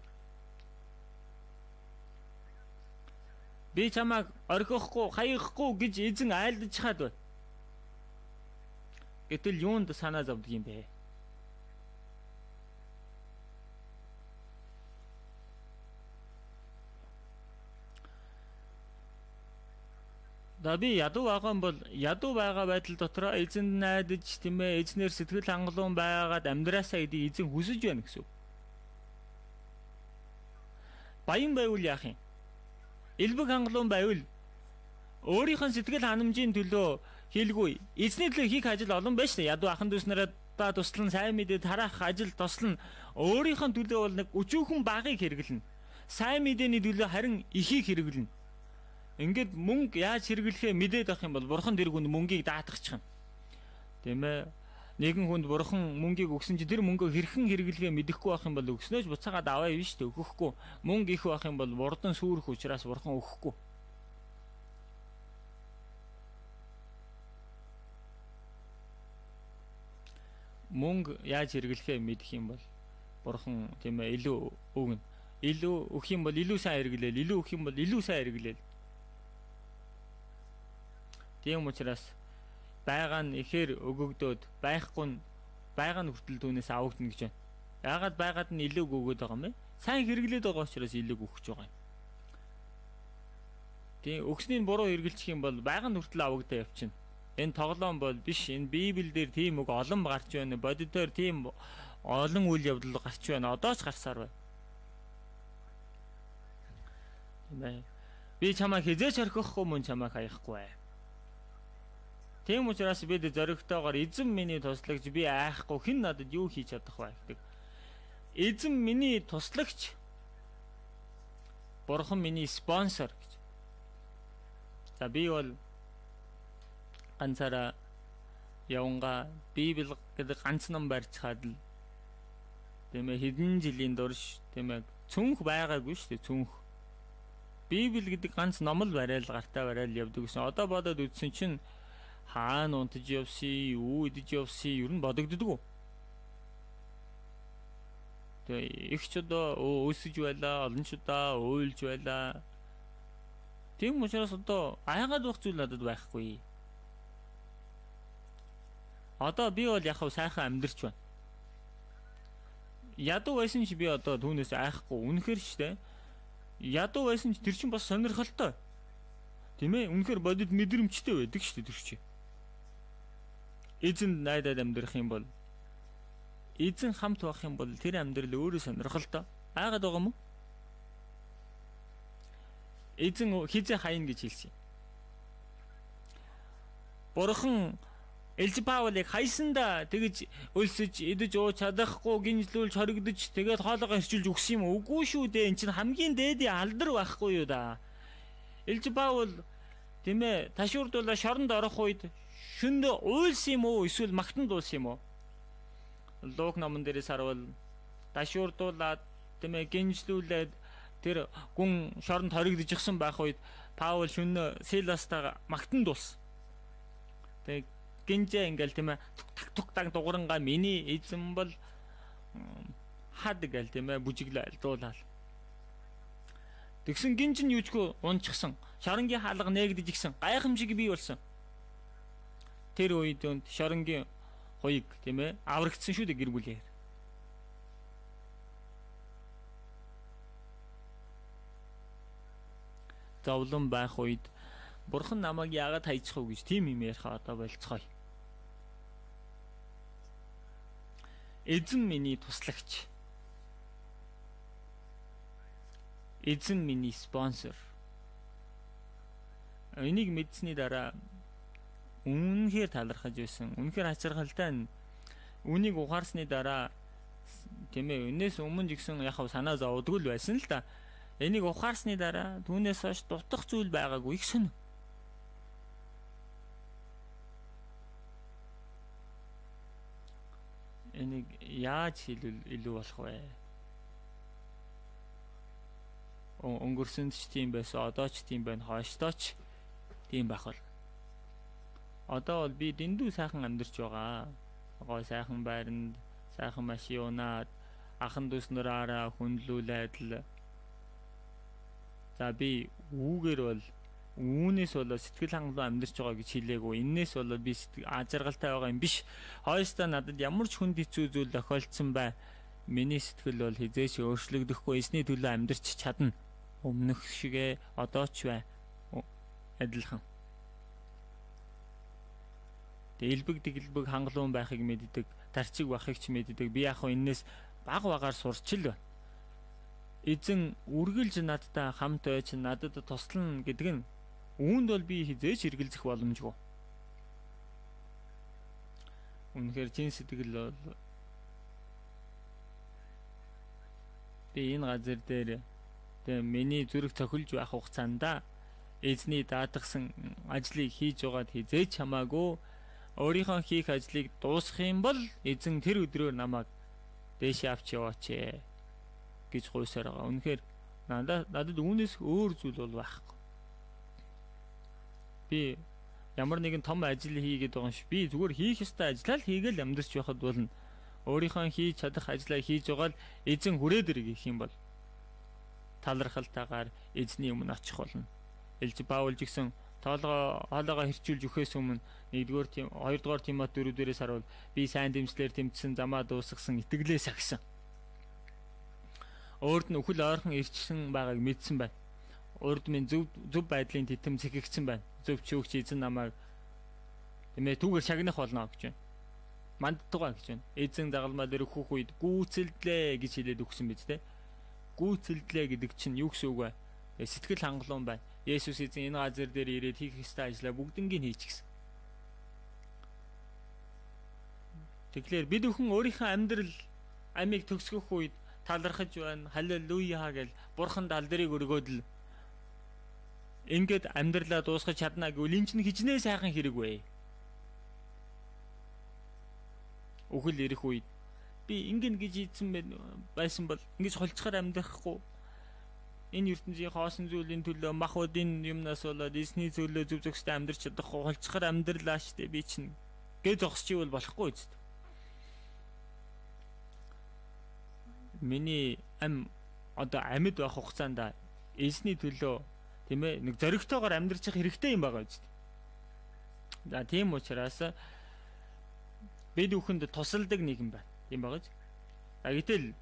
Speaker 1: Би чамайг орхихгүй, хаяхгүй гэж эзэн айлдаж чад бай. Гэтэл юунд санаа зовдөг юм бэ? Да би ядуу байгаа юм бол ядуу байгаа байдал дотор эзэнд найдаж тийм ээ эзнэр сэтгэл хангалуун байгаад амьдраасаа гэдгийг эзэн хүсэж байна гэсэн. Баян байвал яах юм? Элбэг хангалуун байвал өөрийнх нь сэтгэл ханамжийн төлөө хийлгүй. Эзний төлөө хийх ажил олон байна шүү дээ. Ядуу ахын дүүс нараа та туслан сайн мэдээ тараах ажил туслан өөрийнх нь төлөө бол нэг өчүүхэн багыг хэрэглэнэ. Сайн мэдээний төлөө харин ихийг хэрэглэнэ. Ингээд мөнгө яаж хэрэглэхээ мэдээд авах юм бол бурхан тэр хүнд мөнгийг даатгачих юм. Тийм ээ. Нэгэн хүнд бурхан мөнгийг өгсөн чи тэр мөнгөө хэрхэн хэрэглэхээ мэдэхгүй байх юм бол өгснөөч буцаагаад аваа юм шүү дээ. Өгөхгүй. Мөнгө их байх юм бол бурдан сүрэх учраас бурхан өгөхгүй. Мөнгө яаж хэрэглэхээ мэдэх юм бол бурхан тийм ээ илүү өгнө. Илүү өгөх юм бол илүү сайн хэрэглээл, илүү өгөх юм бол илүү сайн хэрэглээл. Тийм учраас байгаа нь ихээр өгөгдөөд байхгүй нь байгаа нь хүртэл түүнээс авагдана гэж байна. Яагаад байгаад нь илүү өгөөд байгаа юм бэ? Сайн хэрэглээд байгаа учраас илүү өгч байгаа юм. Тийм өгснийг буруу хэрэглэх юм бол байгаа нь хүртэл авагдаа явчихна. Энэ тоглоом бол биш. Энэ Библиэлд тийм үг олон гарч байна. Бодитоор тийм олон үйл явдал гарч байна. Одоо ч гарсаар байна. Тийм ээ. Би чамайг хизээч орхихгүй, мөн чамайг хаяхгүй бай. Тийм учраас бид зоригтойгоор эзэн миний туслагч би айхгүй хэн надад юу хийж чадах вэ гэдэг. Эзэн миний туслагч бурхан миний спонсор гэж. За би бол ганцаараа яванга Библи гэдэг ганц ном барьцгаад л тийм ээ хэдэн жилийн дурш тийм ээ цүнх байгаагүй шүү дээ цүнх. Библи гэдэг ганц ном л барайл гартаа барайл явдаг гэсэн. Одоо бодоод үзсэн чинь хаана унтаж явсан, юу идэж явсан ер нь бодогддгоо. Тэгээ их ч одоо өсөж байлаа, олон ч удаа уйлж байлаа. Тийм учраас одоо айгаад байх зүйл надад байхгүй. Одоо би бол яг сайхан амьдарч байна. Ядуу байсан ч би одоо түүнээс айхгүй. Үнэхээр ч тийм. Ядуу байсан ч тэр чинь бас сонирхолтой. Тийм ээ? Үнэхээр бодит мэдрэмжтэй байдаг шүү дээ тэр чинь. Эзэн найдаад амьдрах юм бол эзэн хамт байх юм бол тэр амьдрал өөрөө сонирхолтой. Айгаад байгаа юм уу? Эзэн хизээ хаяна гэж хэлсэн. Бурхан Элж Паулыг хайсандаа тэгж өлсөж идэж ууж чадахгүй гинжлүүлж хоригдож тэгээд хоолойгоо хэрчүүлж өгсөн юм уу? Үгүй шүү дээ. Энд чинь хамгийн дээдийн алдар байхгүй юу да. Элж Паул тийм ээ ташуурдуулаа шоронд орох үед шүнд уйлсан юм уу? Эсвэл магтанд уулсан юм уу? Луг номон дээрээс харвал ташуурдуулаад тийм ээ гинжлүүлээд тэр гүн шоронд хоригдож игсэн байх үед Паул шүн Силастаа магтанд уулсан. Тэгээд гинжээ ингээл тийм ээ тук тук таг дугурангаа миний эзэн бол хад гээл тийм ээ бүжиглээ дуулаад. Тэгсэн гинж нь юучгүй унчихсан. Шоронгийн хаалга нээгдэж игсэн. Гайхамшиг бий болсон. Тэр үед өнд шоронгийн хуйг тийм ээ аврагдсан шүү дээ гэр бүлээр. Зовлон байх үед Бурхан намайг яагаад хайчих вэ гэж тийм юм ярих одоо болцгоё. Эзэн миний туслагч. Эзэн миний спонсор. Энийг мэдсэний дараа үнэхээр талархаж байсан. Үнэхээр хачирхалтай. Үнийг ухаарсны дараа тийм ээ, энэс өмнө ч гэсэн яг санаа зовдгүй л байсан л да. Энийг ухаарсны дараа түүнээс хойш дутах зүйл байгаагүй их сонь. Энийг яаж хэлвэл илүү болох вэ? Өнгөрсөнд ч тийм байсан, одоо ч тийм байна, хойштоо ч тийм байх бол. Одоо бол би дэндүү сайхан амьдарч байгаа. Гой сайхан байранд, сайхан машин унаад, ахан дүүснэраараа хүндлүүлээд л. За би үүгээр бол үүнээс бол сэтгэл хангалуун амьдарч байгаа гэж хэлээгүй. Иннээс бол би ажиргалтай байгаа юм биш. Хойстоо надад ямар ч хүнд хэцүү зүйл тохиолдсон бай. Миний сэтгэл бол хизээш өөрчлөгдөхгүй, эсний төлөө амьдарч чадна. Өмнөх шигээ одоо ч бай. Адилхан. Элбэг дэглбэг хангалуун байхыг мэддэг, тарчиг бахыг ч мэддэг. Би яг хөө энэс баг багаар сурч л байна. Эзэн үргэлж надтай хамт байж надад туслана гэдэг нь үүнд бол би хизээч эргэлзэх боломжгүй. Үнэхээр чин сэтгэл бол би энэ газар дээр тэгээ миний зүрх цохилж байх хугацаанд эзний даатгсан ажлыг хийж байгаад хизээч хамаагүй өөрийнхөө хийх ажлыг дуусгах юм бол эзэн тэр өдрөөр намайг дээшээ авч яваач гэж гуйсаар байгаа. Үнэхээр надад надад үүнээс өөр зүйл бол байхгүй. Би ямар нэгэн том ажил хийгээд байгаа юм шиг би зүгээр хийх ёстой ажлаа л хийгээл амьдарч байхад болно. Өөрийнхөө хийж чадах ажлаа хийж байгаа л эзэн хүрээд ирэх юм бол талархалтайгаар эзний өмнө очих болно. Элж Паул ч гэсэн тоолгоо хоолойгоо хэрчүүлж өгөхөөс өмнө нэгдүгээр тийм хоёрдугаар Тимот дөрөвдүгээрээс харуул би сайн дэмжлэр тэмцсэн замаа дуусгасан итгэлээ сагсан. Өөрд нь өхөл ойрхон ирчихсэн байгааг мэдсэн байна. Урд минь зөв зөв байдлын тэтэм цэгэгцэн байна. Зөв ч өгч эзэн намайг тэмээ түүгээр шагнах болно гэж байна. Мандтугаа гэж байна. Эзэн загалмаа дээр өөхөх үед гүйцэлдлээ гэж хэлээд өгсөн биз дээ. Гүйцэлдлээ гэдэг чинь юу гэсэн үг вэ? Сэтгэл хангалуун байна. Есүс эзэн энэ газар дээр ирээд хийх ёстой ажлаа бүгднийг хийчихсэн. Тэгэхээр бид бүхэн өөрийнхөө амьдрал амийг төгсгөх үед талархаж байна. Халелуя гэж Бурханд алдрыг өргөөд л ингээд амьдралаа дуусгаж чадна гэвэл энэ чинь хичнээн сайхан хэрэг вэ? Үхэл ирэх үед би ингэн гэж ийдсэн байсан бол ингэж холцохоор амьдрахгүй. Энэ ертөнцийн хоосон зүйлийн төлөө махуудын юмнаас болоод эсний зөвлөө зүв зөвхөстэй амьдрч чадахгүй холцохоор амьдралаа штэ би чинь гээ зогсчихвол болохгүй үст. Миний ам одоо амьд байх хугацаанд эсний төлөө тийм ээ нэг зоригтойгоор амьдрчих хэрэгтэй юм байгаа үст. За тийм учраас бид бүхэнд тусалдаг нэгэн байна. Тийм байгаа ч. А гэтэл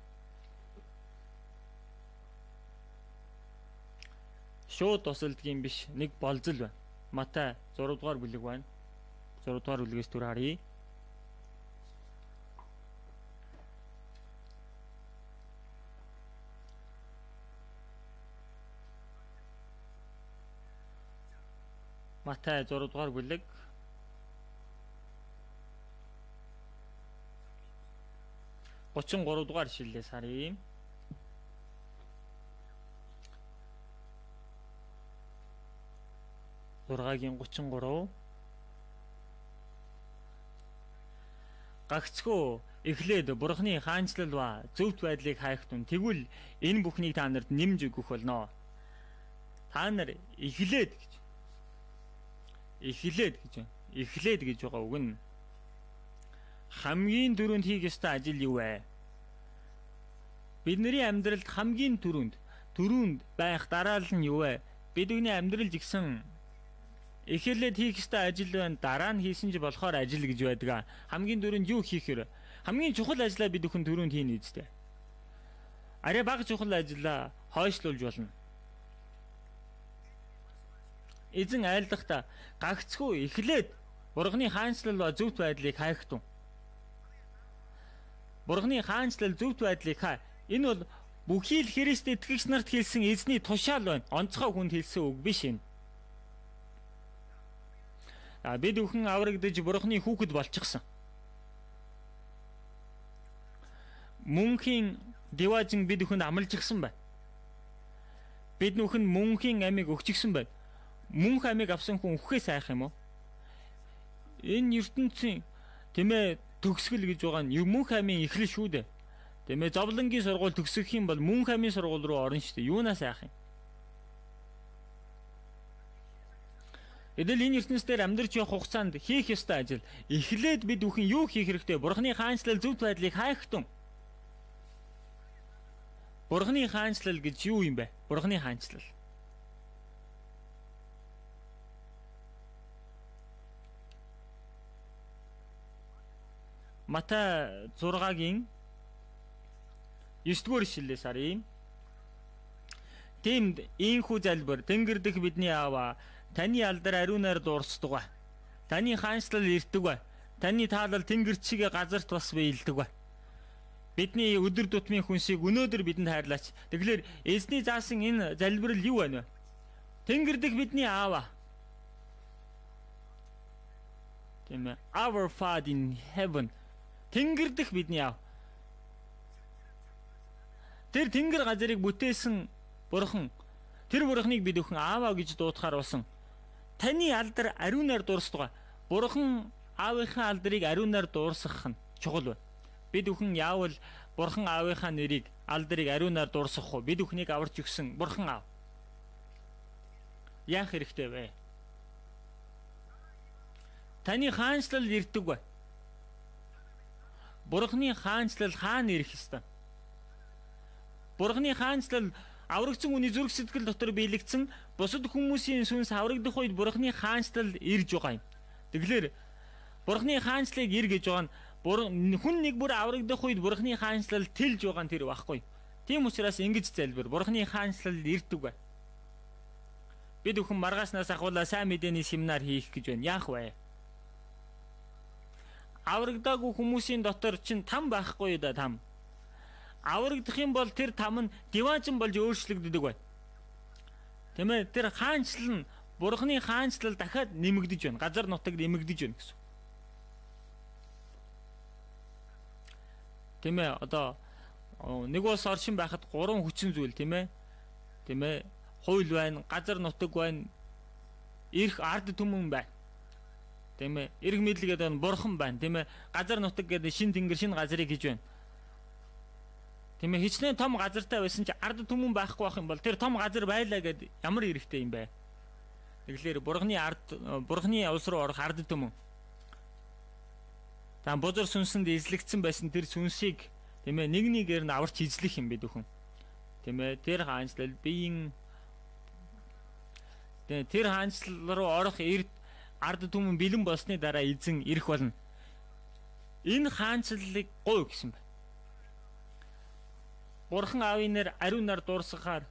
Speaker 1: шууд тусалдгийн биш нэг болзол байна. Матай зураг дугаар бүлэг байна. зураг дугаар бүлгээс түр харъя. Матай зураг дугаар бүлэг гучин гурав дугаар ишлэлээс харъя. зургагийн гучин гурав Гагцхүү эхлээд Бурхны хаанчлал ба зөвхт байдлыг хайх тун тэгвэл энэ бүхнийг та нарт нэмж өгөх болно. Та нар эхлээд гэж эхлээд гэж эхлээд гэж байгаа үг нь хамгийн түрүүнд хийх ёстой ажил юу вэ? Бидний амьдралд хамгийн түрүүнд түрүүнд байх дараал нь юу вэ? Бидний амьдрал жигсэн эхлээд хийх ёстой ажил байна. Дараа нь хийсэн ч болохоор ажил гэж байдаг. Хамгийн түрүүнд юу хийх вэ? Хамгийн чухал ажлаа бид бүхэн түрүүнд хийнэ үстэй. Арай бага чухал ажлаа хойшлуулж болно. Эзэн айлдахдаа гагцхүү эхлээд Бурхны хаанчлал ба зөвхт байдлыг хайх тун. Бурхны хаанчлал зөвхт байдлыг хай. Энэ бол Бүхий л Христ итгэгч нарт хэлсэн эзний тушаал байна. Онцгой хүнд хэлсэн үг биш энэ. А бид бүхэн аврагдаж Бурхны хүүхэд болчихсон. Мөнхийн диважин бид бүхэнд амлаж гисэн байна. Бид бүхэн мөнхийн амийг өгчихсөн байна. Мөнх амийг авсан хүн үхээс айх юм уу? Энэ ертөнцийн тэмээ төгсгөл гэж байгаа нь мөнх амийн эхлэл шүү дээ. Тэмээ зовлонгийн сургууль төгсөх юм бол мөнх амийн сургууль руу орно шүү дээ. Юунаас айх юм? Эдэл энэ ертөнцийн дээр амьдарч явах хугацаанд хийх ёстой ажил. Эхлээд бид бүхэн юу хийх хэрэгтэй? Бурхны хаанчлал зөвхт байдлыг хайх тун. Бурхны хаанчлал гэж юу юм бэ? Бурхны хаанчлал. Матай зургагийн есдүгээр ишлэлээс харъя. Тиймд ийхүү залбир тэнгэр дэх бидний аава таны алдар ариунаар дуурсдаг. Таны хаанчлал ирдэг. Таны таалал тэнгэр чигээ газарт бас биелдэг. Бидний өдөр тутмын хүнсийг өнөөдөр бидэнд хайрлаач. Тэгэхээр эзний заасан энэ залбирал юу байна вэ? Тэнгэр дэх бидний аава. Тийм ээ. Our Father in heaven. Тэнгэр дэх бидний аав. Тэр тэнгэр газрыг бүтээсэн Бурхан. Тэр Бурханыг бид бүхэн ааваа гэж дуудахаар болсон. Таны алдар ариунаар дуурсдаг. Бурхан аавынхаа алдрыг ариунаар дуурсгах нь чухал байна. Бид бүхэн яавал Бурхан аавынхаа нэрийг алдрыг ариунаар дуурсгах уу? Бид бүхнийг аварч өгсөн Бурхан аав. Яах хэрэгтэй вэ? Таны хаанчлал ирдэг бай. Бурхны хаанчлал хаана ирэх ёстой? Бурхны хаанчлал аврагдсан хүний зүрх сэтгэл дотор биелэгдсэн бусад хүмүүсийн сүнс аврагдах үед Бурхны хаанчлал ирж байгаа юм. Тэгэхээр Бурхны хаанчлалыг ир гэж байгаа нь хүн нэг бүр аврагдах үед Бурхны хаанчлал тэлж байгаа нь тэр байхгүй. Тийм учраас ингэж залбир. Бурхны хаанчлал ирдэг бай. Бид бүхэн маргааснаас ахуулаа сайн мэдээний семинар хийх гэж байна. Яах вэ? Аврагдаагүй хүмүүсийн дотор чинь там байхгүй да там. Аврагдах юм бол тэр там нь диваажин болж өөрчлөгддөг бай. Тийм ээ, тэр хаанчлал нь Бурхны хаанчлал дахиад нэмэгдэж байна. Газар нутаг нэмэгдэж байна гэсэн. Тийм ээ, одоо нэг улс оршин байхад гурван хүчин зүйл тийм ээ. Тийм ээ, хууль байна, газар нутаг байна, эрх ард түмэн байна. Тийм ээ, эрх мэдлэг гэдэг нь Бурхан байна, тийм ээ. Газар нутаг гэдэг шин тэнгэр, шин газрыг хийж байна. Тийм ээ, хичнээн том газартай байсан чи ард түмэн байхгүй байх юм бол тэр том газар байлаа гэд ямар эрхтэй юм бэ? Тэгэхээр Бурханы ард, Бурханы улс руу орох ард түмэн. Та бузар сүнсэнд эзлэгдсэн байсан тэр сүнсийг тийм ээ нэг нэгээр нь аварч эзлэх юм бид бүхэн. Тийм ээ, тэр хаанчлал биеийн тэр хаанчлал руу орох эрд ард түмэн бэлэн болсны дараа эзэн ирэх болно. Энэ хаанчлалыг гуй гэсэн байна. Бурхан аавын нэр ариунаар дуурсгахаар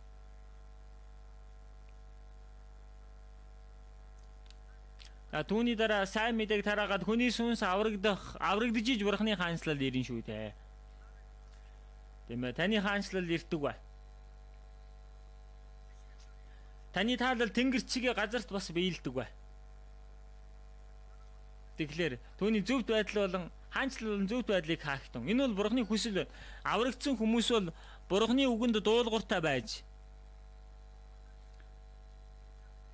Speaker 1: а түүний дараа сайн мэдээг тараагаад хүний сүнс аврагдах аврагдж иж Бурханы хаанчлал ирнэ шүү дээ. Тийм ээ, таны хаанчлал ирдэг бай. Таны таалал тэнгэр чигээ газарт бас биелдэг бай. Тэгэхээр түүний зөвхт байдал болон хаанчлал болон зөвхт байдлыг хаахтун. Энэ бол Бурханы хүсэл байна. Аврагдсан хүмүүс бол Бурханы үгэнд дуулууртай байж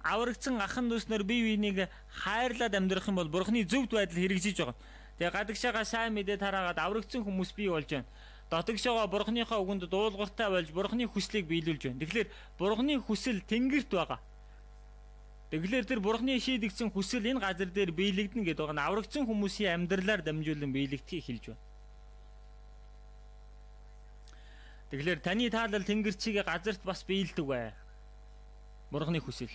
Speaker 1: аврагдсан ахан дүүснэр бие биенийг хайрлаад амьдрах юм бол Бурханы зөвхт байдал хэрэгжиж байгаа. Тэгээ гадагшаага сайн мэдээ тараагаад аврагдсан хүмүүс бий болж байна. Дотогшоогоо Бурханыхаа үгэнд дуулууртай болж Бурханы хүслийг биелүүлж байна. Тэгэхээр Бурханы хүсэл тэнгэрт байгаа. Тэгэхээр тэр Бурханы шийдэгдсэн хүсэл энэ газар дээр биелэгдэнэ гэдэг байгаа нь аврагдсан хүмүүсийн амьдралаар дамжуулан биелэгдэхийг хэлж байна. Тэгэхээр таны таалал тэнгэр чигээ газарт бас биелдэг бай. Бурханы хүсэл.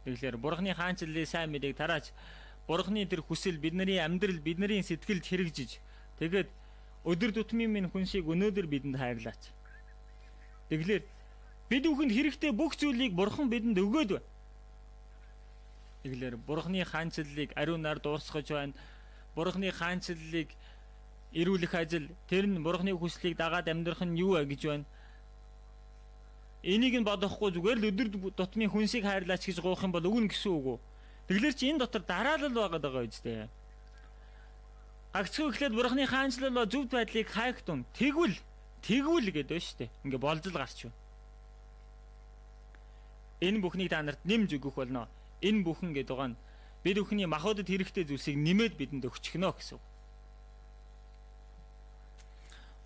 Speaker 1: Тэгэхээр Бурханы хаанчлалын сайн мэдээг тарааж Бурханы тэр хүсэл бидний амьдрал, бидний сэтгэлд хэрэгжиж тэгээд өдөр тутмын минь хүнсийг өнөөдөр бидэнд хайрлаач. Тэгэхээр бид бүхэнд хэрэгтэй бүх зүйлийг Бурхан бидэнд өгөөд байна. Тэгэхээр Бурханы хаанчлалыг ариунаар дуурсгаж байна. Бурханы хаанчлалыг эрүүлэх ажил, тэр нь Бурханы хүслийг дагаад амьдрах нь юу вэ гэж байна. Энийг нь бодохгүй зүгээр л өдөр тутмын хүнсийг хайрлаач гэж гуйх юм бол өгнө гэсэн үг үү? Тэгэлэр чи энэ дотор дараалал байгаад байгаа үстэй. Гагцхүү ихлээр бурхны хаанчлал ба зөв байдлыг хайхтун. Тэгвэл тэгвэл гэдэг байна шүү дээ. Ингээ болзол гарч байна. Энэ бүхнийг та нарт нэмж өгөх болно. Энэ бүхэн гэдэг байгаа нь бид бүхний махбодод хэрэгтэй зүйлсийг нэмээд бидэнд өгчихнө гэсэн үг.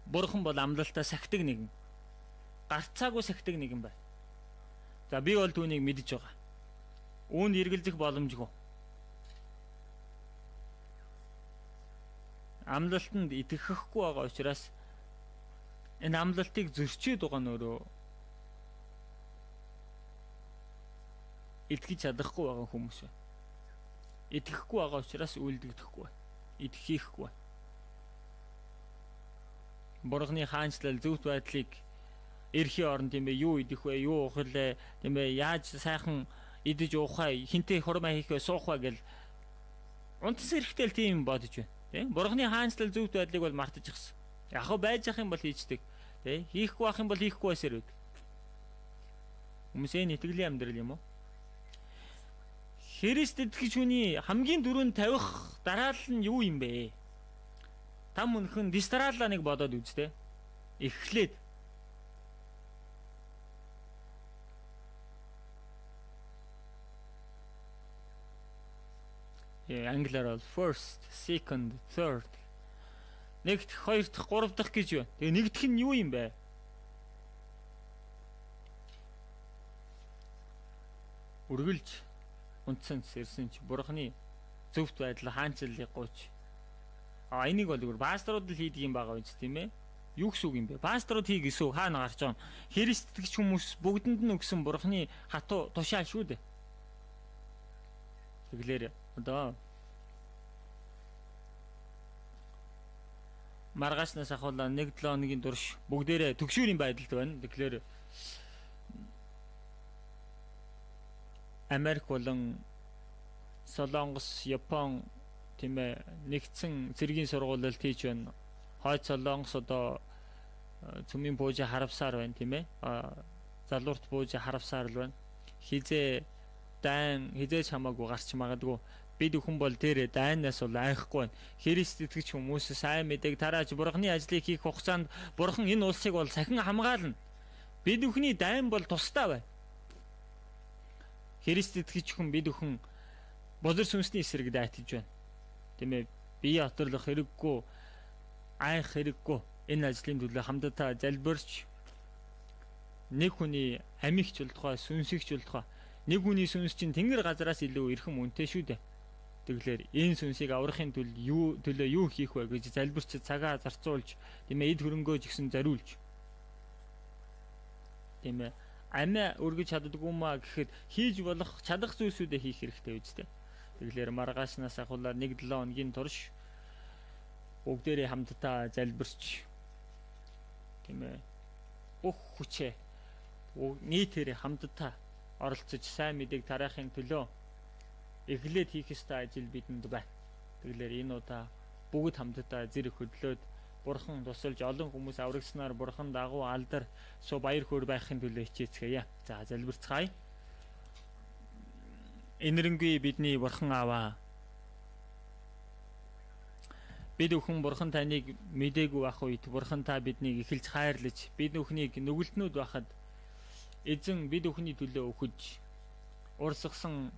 Speaker 1: Бурхан бол амлалтаа сахидаг нэгэн. Гарцаагүй сахидаг нэгэн бай. За би бол түүнийг мэдж байгаа. Үүнд эргэлзэх боломжгүй. Амлалтанд итгэхгүй байгаа учраас энэ амлалтыг зөрчиж байгаа нь өөрөө итгэж чадахгүй байгаа хүмүүс байна. Итгэхгүй байгаа учраас үйлдэгдэхгүй. Итгэхгүй. Бурхны хаанчлал зөвхт байдлыг эрхийн орон тийм ээ юу идэх вэ? Юу уух вэ? Тийм ээ яаж сайхан идэж уух вэ? Хинтээ хурмаа хийх вэ? Суух вэ гэл унтс эрэхтэл тийм бодож байна. Тийм Бурхны хаанчлал зөвхт байдлыг бол мартаж гисэн. Яг хөө байж ах юм бол хийждэг. Тийм хийхгүй ах юм бол хийхгүй байсаар үд. Хүмүүсийн итгэлийн амьдрал юм уу? Христ итгэж хүний хамгийн дөрөнд тавих дараалал нь юу юм бэ? Там өнхөн дистраалла нэг бодоод үзтээ. Эхлээд Яа англиар бол first, second, third. Нэгт, хоёр дахь, гурав дахь гэж байна. Тэгээ нэгдэх нь юу юм бэ? Үргэлж унтсан сэрсэн чи бурхны зөвхт байдал хаанчлалыг гооч. А энийг бол зүгээр пасторууд л хийдэг юм байгаа биз тийм ээ? Юу гэсэн үг юм бэ? Пасторууд хий гэсэн үг хаана гарч байгаа юм? Христ итгэж хүмүүс бүгдэнд нь өгсөн бурхны хатуу тушаал шүү дээ. Тэгэлэр одоо маргаашнаас ахуулаа нэг долоо хоногийн турш бүгдээрээ төгшүүрийн байдалд байна. Тэгэхээр Америк болон Солонгос, Япон тийм ээ нэгдсэн цэргийн сургуулиуд хийж байна. Хойд Солонгос одоо цөмийн буужа харавсаар байна тийм ээ. Залуурт буужа харавсаар л байна. Хизээ дайн хизээч хамаагүй гарч магадгүй. Бид хүн бол тэр дайнаас бол айхгүй байна. Христ итгэж хүмүүс сайн мэдээг тарааж бурхны ажлыг хийх хугацаанд бурхан энэ улсыг бол сахин хамгаална. Бид бүхний дайн бол тусдаа байна. Христ итгэж хүн бид бүхэн бузар сүнсний эсрэг дайтаж байна. Тийм ээ бие оторлох хэрэггүй, айх хэрэггүй. Энэ ажлын төлөө хамтдаа залбирч нэг хүний амигч болтугай, сүнсэгч болтугай. Нэг хүний сүнс чинь тэнгэр газараас илүү эрхэм үнэтэй шүү дээ. Тэгэлэр энэ сүнсийг аврахын тулд юу төлөө юу хийх вэ гэж залбирч цагаа зарцуулж, тийм ээ эд хөрөнгөө ч гэсэн зариулж. Тийм ээ амиа өргөж чаддаггүй маа гэхэд хийж болох чадах зүйлсүүдээ хийх хэрэгтэй үстэй. Тэгэлэр маргаашнаас ахуулаад нэг долоо хоногийн турш бүгдээрээ хамтдаа залбирч тийм ээ бүх хүчээ нийтээрээ хамтдаа оролцож сайн мэдээг тараахын төлөө эхлээд хийх ёстой ажил бидэнд байна. Тэгэлэр энэ удаа бүгд хамтдаа зэрэг хөдлөөд бурхан тусалж олон хүмүүс аврагснаар бурхан дагуу алдар суу баяр хөөр байхын төлөө хичээцгээе. За залбирцгаая. Энэрэнгүй бидний бурхан аваа. Бид бүхэн бурхан таныг мэдээгүй ах үед бурхан та биднийг эхэлж хайрлаж бид бүхнийг нүгэлтнүүд байхад эзэн бид бүхний төлөө өгөж урсгасан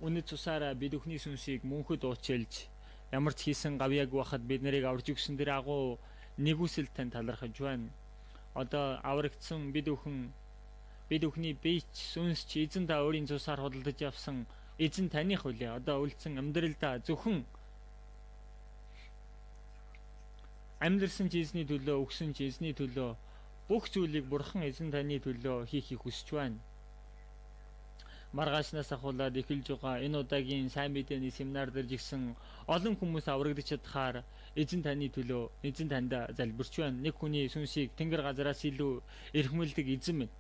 Speaker 1: үнэт цусаараа бид бүхний сүнсийг мөнхөд уучилж ямар ч хийсэн гавьяаг байхад бид нарыг аварж өгсөн тэр агуу нэгүсэл тань талархаж байна. Одоо аврагдсан бид бүхэн бид бүхний бие сүнс чи эзэн та өөрийн цусаар худалдаж авсан эзэн таних үлээ. Одоо үлдсэн амьдралдаа зөвхөн амьдрсан чи эзний төлөө өгсөн чи эзний төлөө бүх зүйлийг бурхан эзэн таны төлөө хийхийг хүсэж байна. Маргаашнаас ахуулаад эхэлж байгаа энэ удаагийн сайн мэдээний семинар дээр жигсэн олон хүмүүс аврагдаж чадхаар эзэн таны төлөө эзэн танда залбирч байна. Нэг хүний сүнсийг тэнгэр газараас илүү эрхмэлдэг эзэн минь.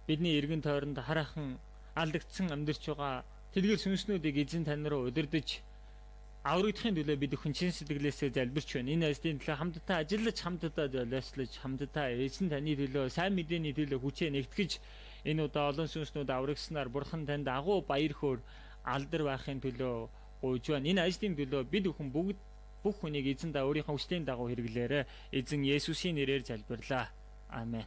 Speaker 1: Бидний эргэн тойронд хараахан алдагдсан амьдарч байгаа тэдгээр сүнснүүдийг эзэн тань руу удирдах аврагдахын төлөө бид бүхэн чин сэтгэлээсээ залбирч байна. Энэ айстын төлөө хамтдаа ажиллаж, хамтдаа золиослож, хамтдаа эзэн таны төлөө, сайн мэдээний төлөө хүчээ нэгтгэж, энэ удаа олон сүнснүүд аврагснаар Бурхан танд агуу баяр хөөр алдар байхын төлөө гуйж байна. Энэ айстын төлөө бид бүхэн бүгд бүх хүнийг эзэн та өөрийнхөө хүслийн дагуу хэрэглээрэ. Эзэн Есүсийн нэрээр залбирлаа. Амен.